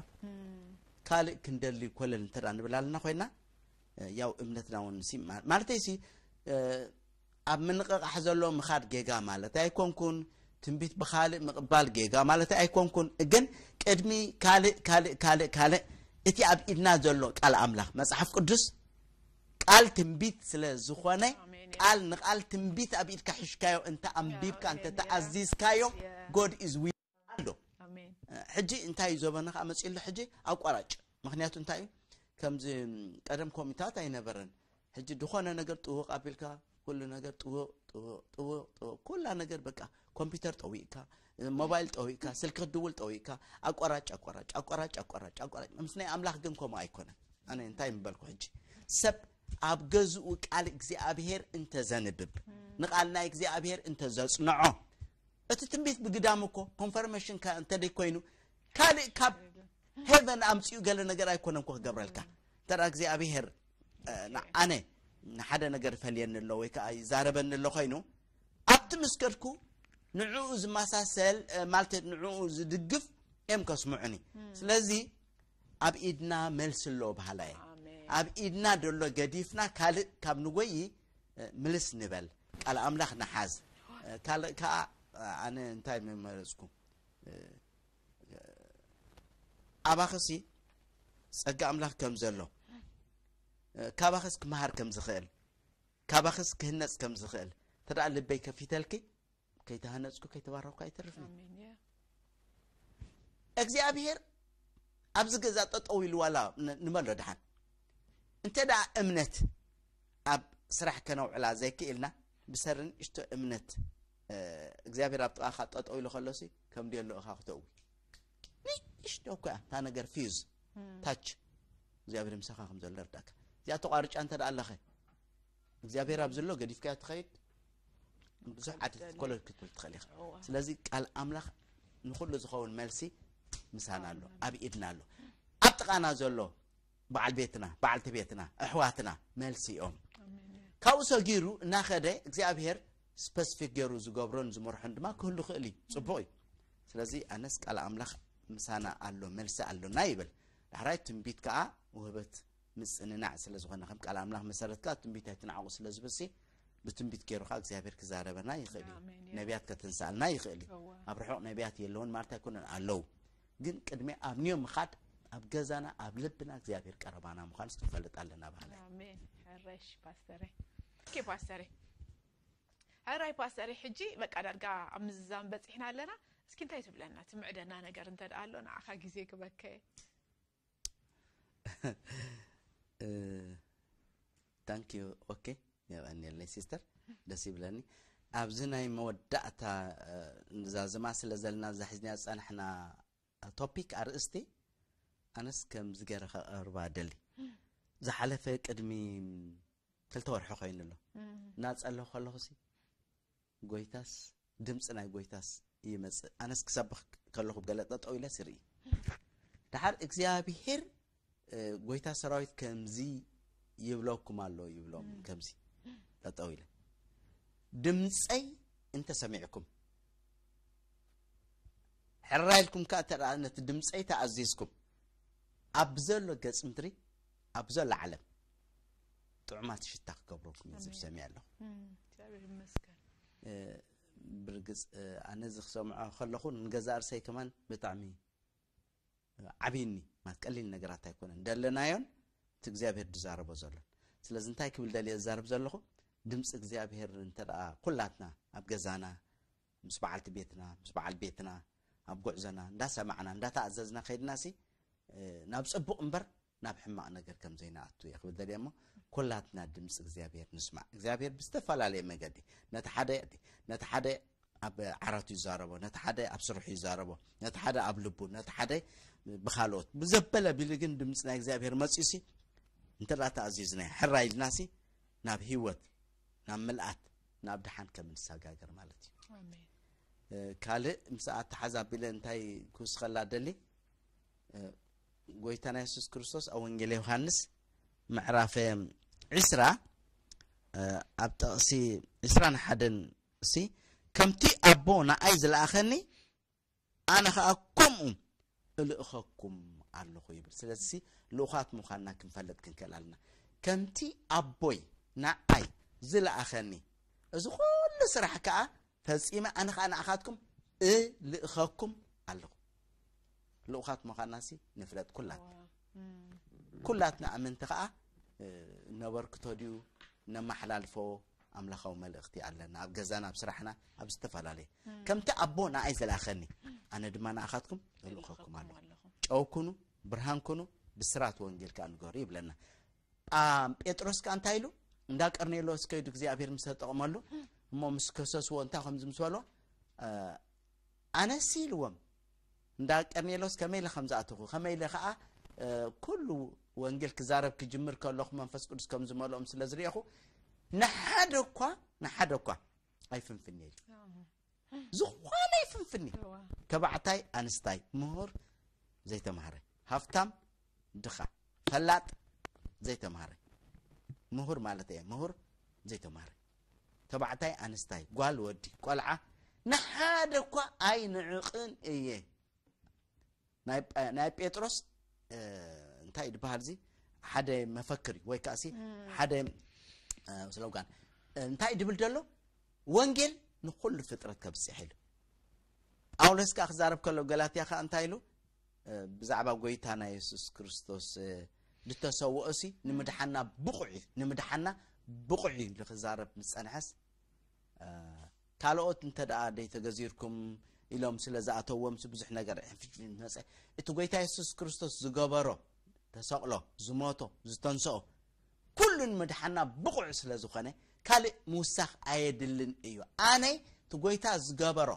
ካልእ ክንደሊ ኮለል እንተ ደኣ ንብል ኣለና ኮይና ያው እምነትና እውን ማለተይ ሲ ኣብ ምንቕቓሕ ዘሎ ምኻድ ጌጋ ማለት ኣይኮንኩን። ትንቢት ብኻልእ ምቕባል ጌጋ ማለት ኣይኮንኩን። ግን ቅድሚ ካልእ ካልእ ካልእ ካልእ እቲ ኣብ ኢድና ዘሎ ቃል ኣምላኽ መጽሓፍ ቅዱስ ቃል ትንቢት ስለ ዝኾነ ቃል ንቃል ትንቢት ኣብ ኢድካ ሒሽካዮ እንተ ኣንቢብካ እንተ ተኣዚዝካዮ God is with ኣሎ። ሕጂ እንታይ እዩ ዘበነ ከዓ መፅኡ ኣሎ ሕጂ ኣቋራጭ። ምክንያቱ እንታይ እዩ? ከምዚ ቀደም ኮሚታት ኣይነበረን። ሕጂ ዝኾነ ነገር ጥውቕ ኣቢልካ፣ ኩሉ ነገር ጥውቕ ጥውቕ ጥውቕ ጥውቕ፣ ኩላ ነገር በቃ ኮምፒውተር ጠዊቕካ፣ ሞባይል ጠዊቕካ፣ ስልኪ ክትድውል ጠዊቕካ፣ ኣቋራጭ ኣቋራጭ ኣቋራጭ ኣቋራጭ ኣቋራጭ። ምስ ናይ ኣምላኽ ግን ከምኡ ኣይኮነን። ኣነ እንታይ ምበልኩ ሕጂ? ሰብ ኣብ ገዝኡ ቃል እግዚኣብሔር እንተዘንብብ፣ ንቓል ናይ እግዚኣብሔር እንተዘጽንዖ፣ እቲ ትንቢት ብግዳም እኮ ኮንፈርሜሽን እንተደይ ኮይኑ ካልእ ካብ ሄቨን ኣምፅኡ ገለ ነገር ኣይኮነን እኮ ክገብረልካ። እንተ እግዚኣብሔር ኣነ ንሓደ ነገር ይፈልየኒ ኣሎ ወይ ከዓ ይዛረበኒ ኣሎ ኮይኑ፣ ኣብቲ ምስ ከድኩ ንዕኡ ዝመሳሰል ማለት ንዕኡ ዝድግፍ እዮም ከስምዑኒ። ስለዚ ኣብ ኢድና መልሲ ኣሎ በሃላይ። ኣብ ኢድና ደሎ ገዲፍና ካልእ ካብ ንጎይ ምልስ ንበል። ቃል ኣምላኽ ንሓዝ። ካልእ ከዓ ኣነ እንታይ ምመረፅኩ? ኣባኽሲ ጸጋ ኣምላኽ ከም ዘሎ፣ ካባኽስ ክመሃር ከም ዝኽእል፣ ካባኽስ ክህነጽ ከም ዝኽእል ተደኣ ልበይ ከፊተልኪ፣ ከይተሃነጽኩ ከይተባረኽኩ ኣይተርፍን። እግዚኣብሔር ኣብዚ ገዛ ጠጠው ኢሉ ዋላ ንመሎ ድሓን እንተ ደኣ እምነት ኣብ ስራሕ ከነውዕላ ዘይክኢልና ብሰሪ ንእሽቶ እምነት እግዚኣብሔር ኣብ ጥቓኻ ጠጠው ኢሉ ከሎሲ ከም ድዮ ኣለኡኻ ክተእዊ ንእሽቶ እኮ እያ እታ ነገር ፊዝ ታች እግዚኣብሔር ምሳኻ ከም ዘሎ ርዳእካ እዚኣ ተቋርጫ እንተ ደኣ ኣለኸ እግዚኣብሔር ኣብ ዘሎ ገዲፍካዮ ትኸይድ ብዙሕ ዓዲ ክትኮለል ክትብል ትኽእል ኢኻ ስለዚ ቃል ኣምላኽ ንኩሉ ዝኸውን መልሲ ምሳና ኣሎ ኣብ ኢድና ኣሎ ኣብ ጥቓና ዘሎ በዓል ቤትና በዓልቲ ቤትና ኣሕዋትና መልሲ እዮም ካብኡ ሰጊሩ እናኸደ እግዚኣብሔር ስፐስፊክ ገይሩ ዝገብሮን ዝመርሖን ድማ ክህሉ ክእል እዩ ፅቡቅ እዩ ስለዚ ኣነስ ቃል ኣምላኽ ምሳና ኣሎ መልሲ ኣሎና ይብል ዳሕራይ ትንቢት ከዓ ውህበት ምፅንናዕ ስለ ዝኾነ ከም ቃል ኣምላኽ መሰረት ከዓ ትንቢት ኣይትንዓቑ ስለ ዝብል ብትንቢት ገይሩ ከዓ እግዚኣብሔር ክዛረበና ይኽእል እዩ ነቢያት ከተንስኣልና ይኽእል እዩ ኣብ ርሑቕ ነቢያት የለውን ማለት ኣይኮነን ኣለዉ ግን ቅድሚ ኣብ ኒዮ ምኻድ ኣብ ገዛና ኣብ ልብና እግዚኣብሔር ቀረባና ምዃንስ ክንፈልጥ ኣለና ባህለ ኣሜን ሕረሽ ፓስተረ ኦኬ ፓስተረ ሕራይ ፓስተረ ሕጂ በቃ ዳርጋ ኣብ ምዝዛም በፂሕና ኣለና እስኪ እንታይ ትብለና ትምዕደና ነገር እንተ ደኣ ኣሎ ንዓኻ ግዜ ክበከ thank you okay የቐንየለይ ሲስተር ደስ ይብለኒ ኣብዚ ናይ መወዳእታ ዛዝማ ስለ ዘለና ዛሒዝና ዝፀናሕና ቶፒክ ኣርእስቲ ኣነስ ከምዚ ገይረ ከቐርባ ደሊ ዝሓለፈ ቅድሚ ክልተ ወርሒ ኮይኑ ኣሎ እናፀለኹ ከለኹ ሲ ጎይታስ ድምፂ ናይ ጎይታስ ይመፅእ ኣነስ ክሰብኽ ከለኹ ገለ ጠጠው ኢለስ ይርኢ ድሓር እግዚኣብሄር ጎይታ ሰራዊት ከምዚ ይብለኩም ኣሎ ይብሎም ከምዚ ጠጠው ኢለ ድምፀይ እንተሰሚዕኩም ሕራይ ኢልኩም ከዓ ተደኣ ነቲ ድምፀይ ተኣዚዝኩም ኣብ ዘሎ ገፅ ምድሪ ኣብ ዘሎ ዓለም ጥዑማት ሽታ ክገብረኩም እዩ ዝብል ሰሚዐ ኣለኹ እግዚኣብሔር ይመስገን እ፣ ብርግፅ እ፣ ኣነ እዚ ክሰምዖ ከለኹ ንገዛእ ርእሰይ ከማን ብጣዕሚ ዓብይኒ ማለት ቀሊል ነገራት ኣይኮነን ደለናዮን እቲ እግዚኣብሔር ዝዛረቦ ዘሎን ስለዚ እንታይ ክብል ደልየ ዝዛረብ ዘለኹ ድምፂ እግዚኣብሔር እንተ ደኣ ኩላትና ኣብ ገዛና ምስ በዓልቲ ቤትና ምስ በዓል ቤትና ኣብ ጉዕዞና እንዳሰማዕና እንዳተኣዘዝና ከይድና ሲ ናብ ፅቡቕ እምበር ናብ ሕማቕ ነገር ከም ዘይንኣቱ እየ ክብል ደልየ እሞ ኩላትና ድምፂ እግዚኣብሔር ንስማዕ እግዚኣብሔር ብዝተፈላለየ መገዲ ነቲ ሓደ ነቲ ሓደ ኣብ ዓራቱ ይዛረቦ ነቲ ሓደ ኣብ ስርሑ ይዛረቦ ነቲ ሓደ ኣብ ልቡ ነቲ ሓደ ብካልኦት ብዘበለ ቢሉ ግን ድምፂ ናይ እግዚኣብሔር መፅዩ ሲ እንተ ተኣዚዝና ሕራ ኢልና ሲ ናብ ህይወት ናብ ምልኣት ናብ ድሓን ከም ንሰጋገር ማለት እዩ ካልእ ምስ ኣተሓዛቢለ እንታይ ክውስኸላ ደሊ ጎይታና የሱስ ክርስቶስ ኣብ ወንጌል ዮሃንስ ምዕራፍ ዕስራ ኣብ ጠቕሲ ዕስራን ሓደን ሲ ከምቲ ኣቦ ንኣይ ዝለኣኸኒ ኣነ ኸዓ ከምኡ እልእኸኩም ኣለኹ ይብል ስለዚ ልኡኻት ምዃንና ክንፈልጥ ክንክእል ኣለና ከምቲ ኣቦይ ንኣይ ዝለኣኸኒ እዚ ኩሉ ስራሕ ከዓ ፈፂመ ኣነ ከዓ ንኣኻትኩም እልእኸኩም ኣለኹ ልኡኻት ምዃንና ሲ ንፍለጥ ኩላትና ኩላትና ኣመንቲ ከዓ ነበርክቶ ድዩ ነመሓላልፎ ኣምላኻዊ መልእኽቲ ኣለና ኣብ ገዛና ኣብ ስራሕና ኣብ ዝተፈላለየ ከምቲ ኣቦ ንኣይ ዝላኸኒ ኣነ ድማ ንኣኻትኩም እልእኸኩም ኣለኹ። ጨው ኩኑ፣ ብርሃን ኩኑ፣ ብስራት ወንጌል ከኣ ንገሩ ይብለና። ኣም ጴጥሮስ ከኣ እንታይ ኢሉ? እንዳ ቀርኔሎስ ከይዱ እግዚኣብሔር ምስ ተጠቕመሉ፣ እሞ ምስ ከሰስዎ እንታይ ከም ዝምስበሎ ኣነሲ ኢልዎም። እንዳ ቀርኔሎስ ከመይ ኢለ ከም ዝኣተኹ፣ ከመይ ኢለ ከኣ ኩሉ ወንጌል ክዛረብ ክጅምር ከለኹ መንፈስ ቅዱስ ከም ዝመልኦም ስለ ዝርእኹ፣ ንሓደ እኳ ንሓደ እኳ ኣይፍንፍን ኢሉ። ዝኾነ ይፍንፍን እዩ። ተባዕታይ ኣንስታይ፣ ምሁር ዘይተማህረ፣ ሃፍታም ድኻ፣ ፈላጥ ዘይተማህረ፣ ምሁር ማለት እየ፣ ምሁር ዘይተማህረ፣ ተባዕታይ ኣንስታይ፣ ጓል ወዲ፣ ቆልዓ፣ ንሓደ እኳ ኣይንዕቕን እየ። ናይ ጳ- ናይ ጴጥሮስ እ፣ እንታይ ድበሃል እዚ ሓደ መፈክር እዩ፣ ወይ ከኣሲ ሓደ እ፣ ስሎጋን እንታይ ድብል ደሎ? ወንጌል ንኩሉ ፍጥረት ከብፅሕ ኢሉ። ጳውሎስ ከኣ ክዛረብ ከሎ ገላትያ ከኣ እንታይ ኢሉ? እ፣ ብዛዕባ ጎይታና የሱስ ክርስቶስ እ፣ ዝተሰውኦ ሲ ንምድሓና ብቑዕ እዩ፣ ንምድሓና ብቑዕ እዩ ኢሉ ክዛረብ ምስ ጸንሐስ እ፣ ካልኦት እንተ ደኣ ደይተገዚርኩም ኢሎም ስለ ዝኣተዎም ብዙሕ ነገር ሕፍሽ መጸ። እቲ ጎይታ የሱስ ክርስቶስ ዝገበሮ፣ ተሰቕሎ፣ ዝሞቶ፣ ዝተንስኦ ኩሉ ንምድሓና ብቑዕ ስለ ዝኾነ ካልእ ምውሳኽ ኣየድልን እዩ። ኣነ እቲ ጎይታ ዝገበሮ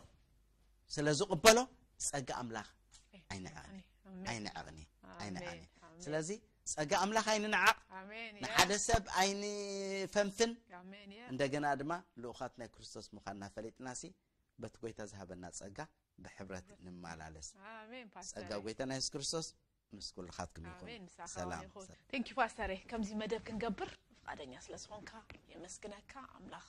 ስለ ዝቕበሎ ጸጋ ኣምላኽ ኣይንዓቕኒ ኣይንዓቕኒ ኣይንዓቕኒ። ስለዚ ጸጋ ኣምላኽ ኣይንንዓቕ፣ ንሓደ ሰብ ኣይንፈንፍን። እንደገና ድማ ልኡኻት ናይ ክርስቶስ ምዃንና ፈሊጥናሲ በቲ ጎይታ ዝሃበና ጸጋ ብሕብረት ንመላለስ። ጸጋ ጎይታና የሱስ ክርስቶስ ምስ ኩልኻትኩም ይኹን። ሰላም። ቴንኪ ፓስተሬ፣ ከምዚ መደብ ክንገብር ፍቃደኛ ስለ ዝኾንካ የመስግነካ ኣምላኽ።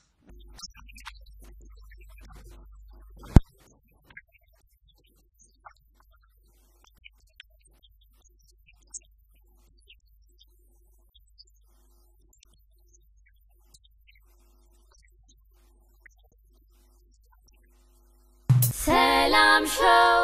ሰላም ሾው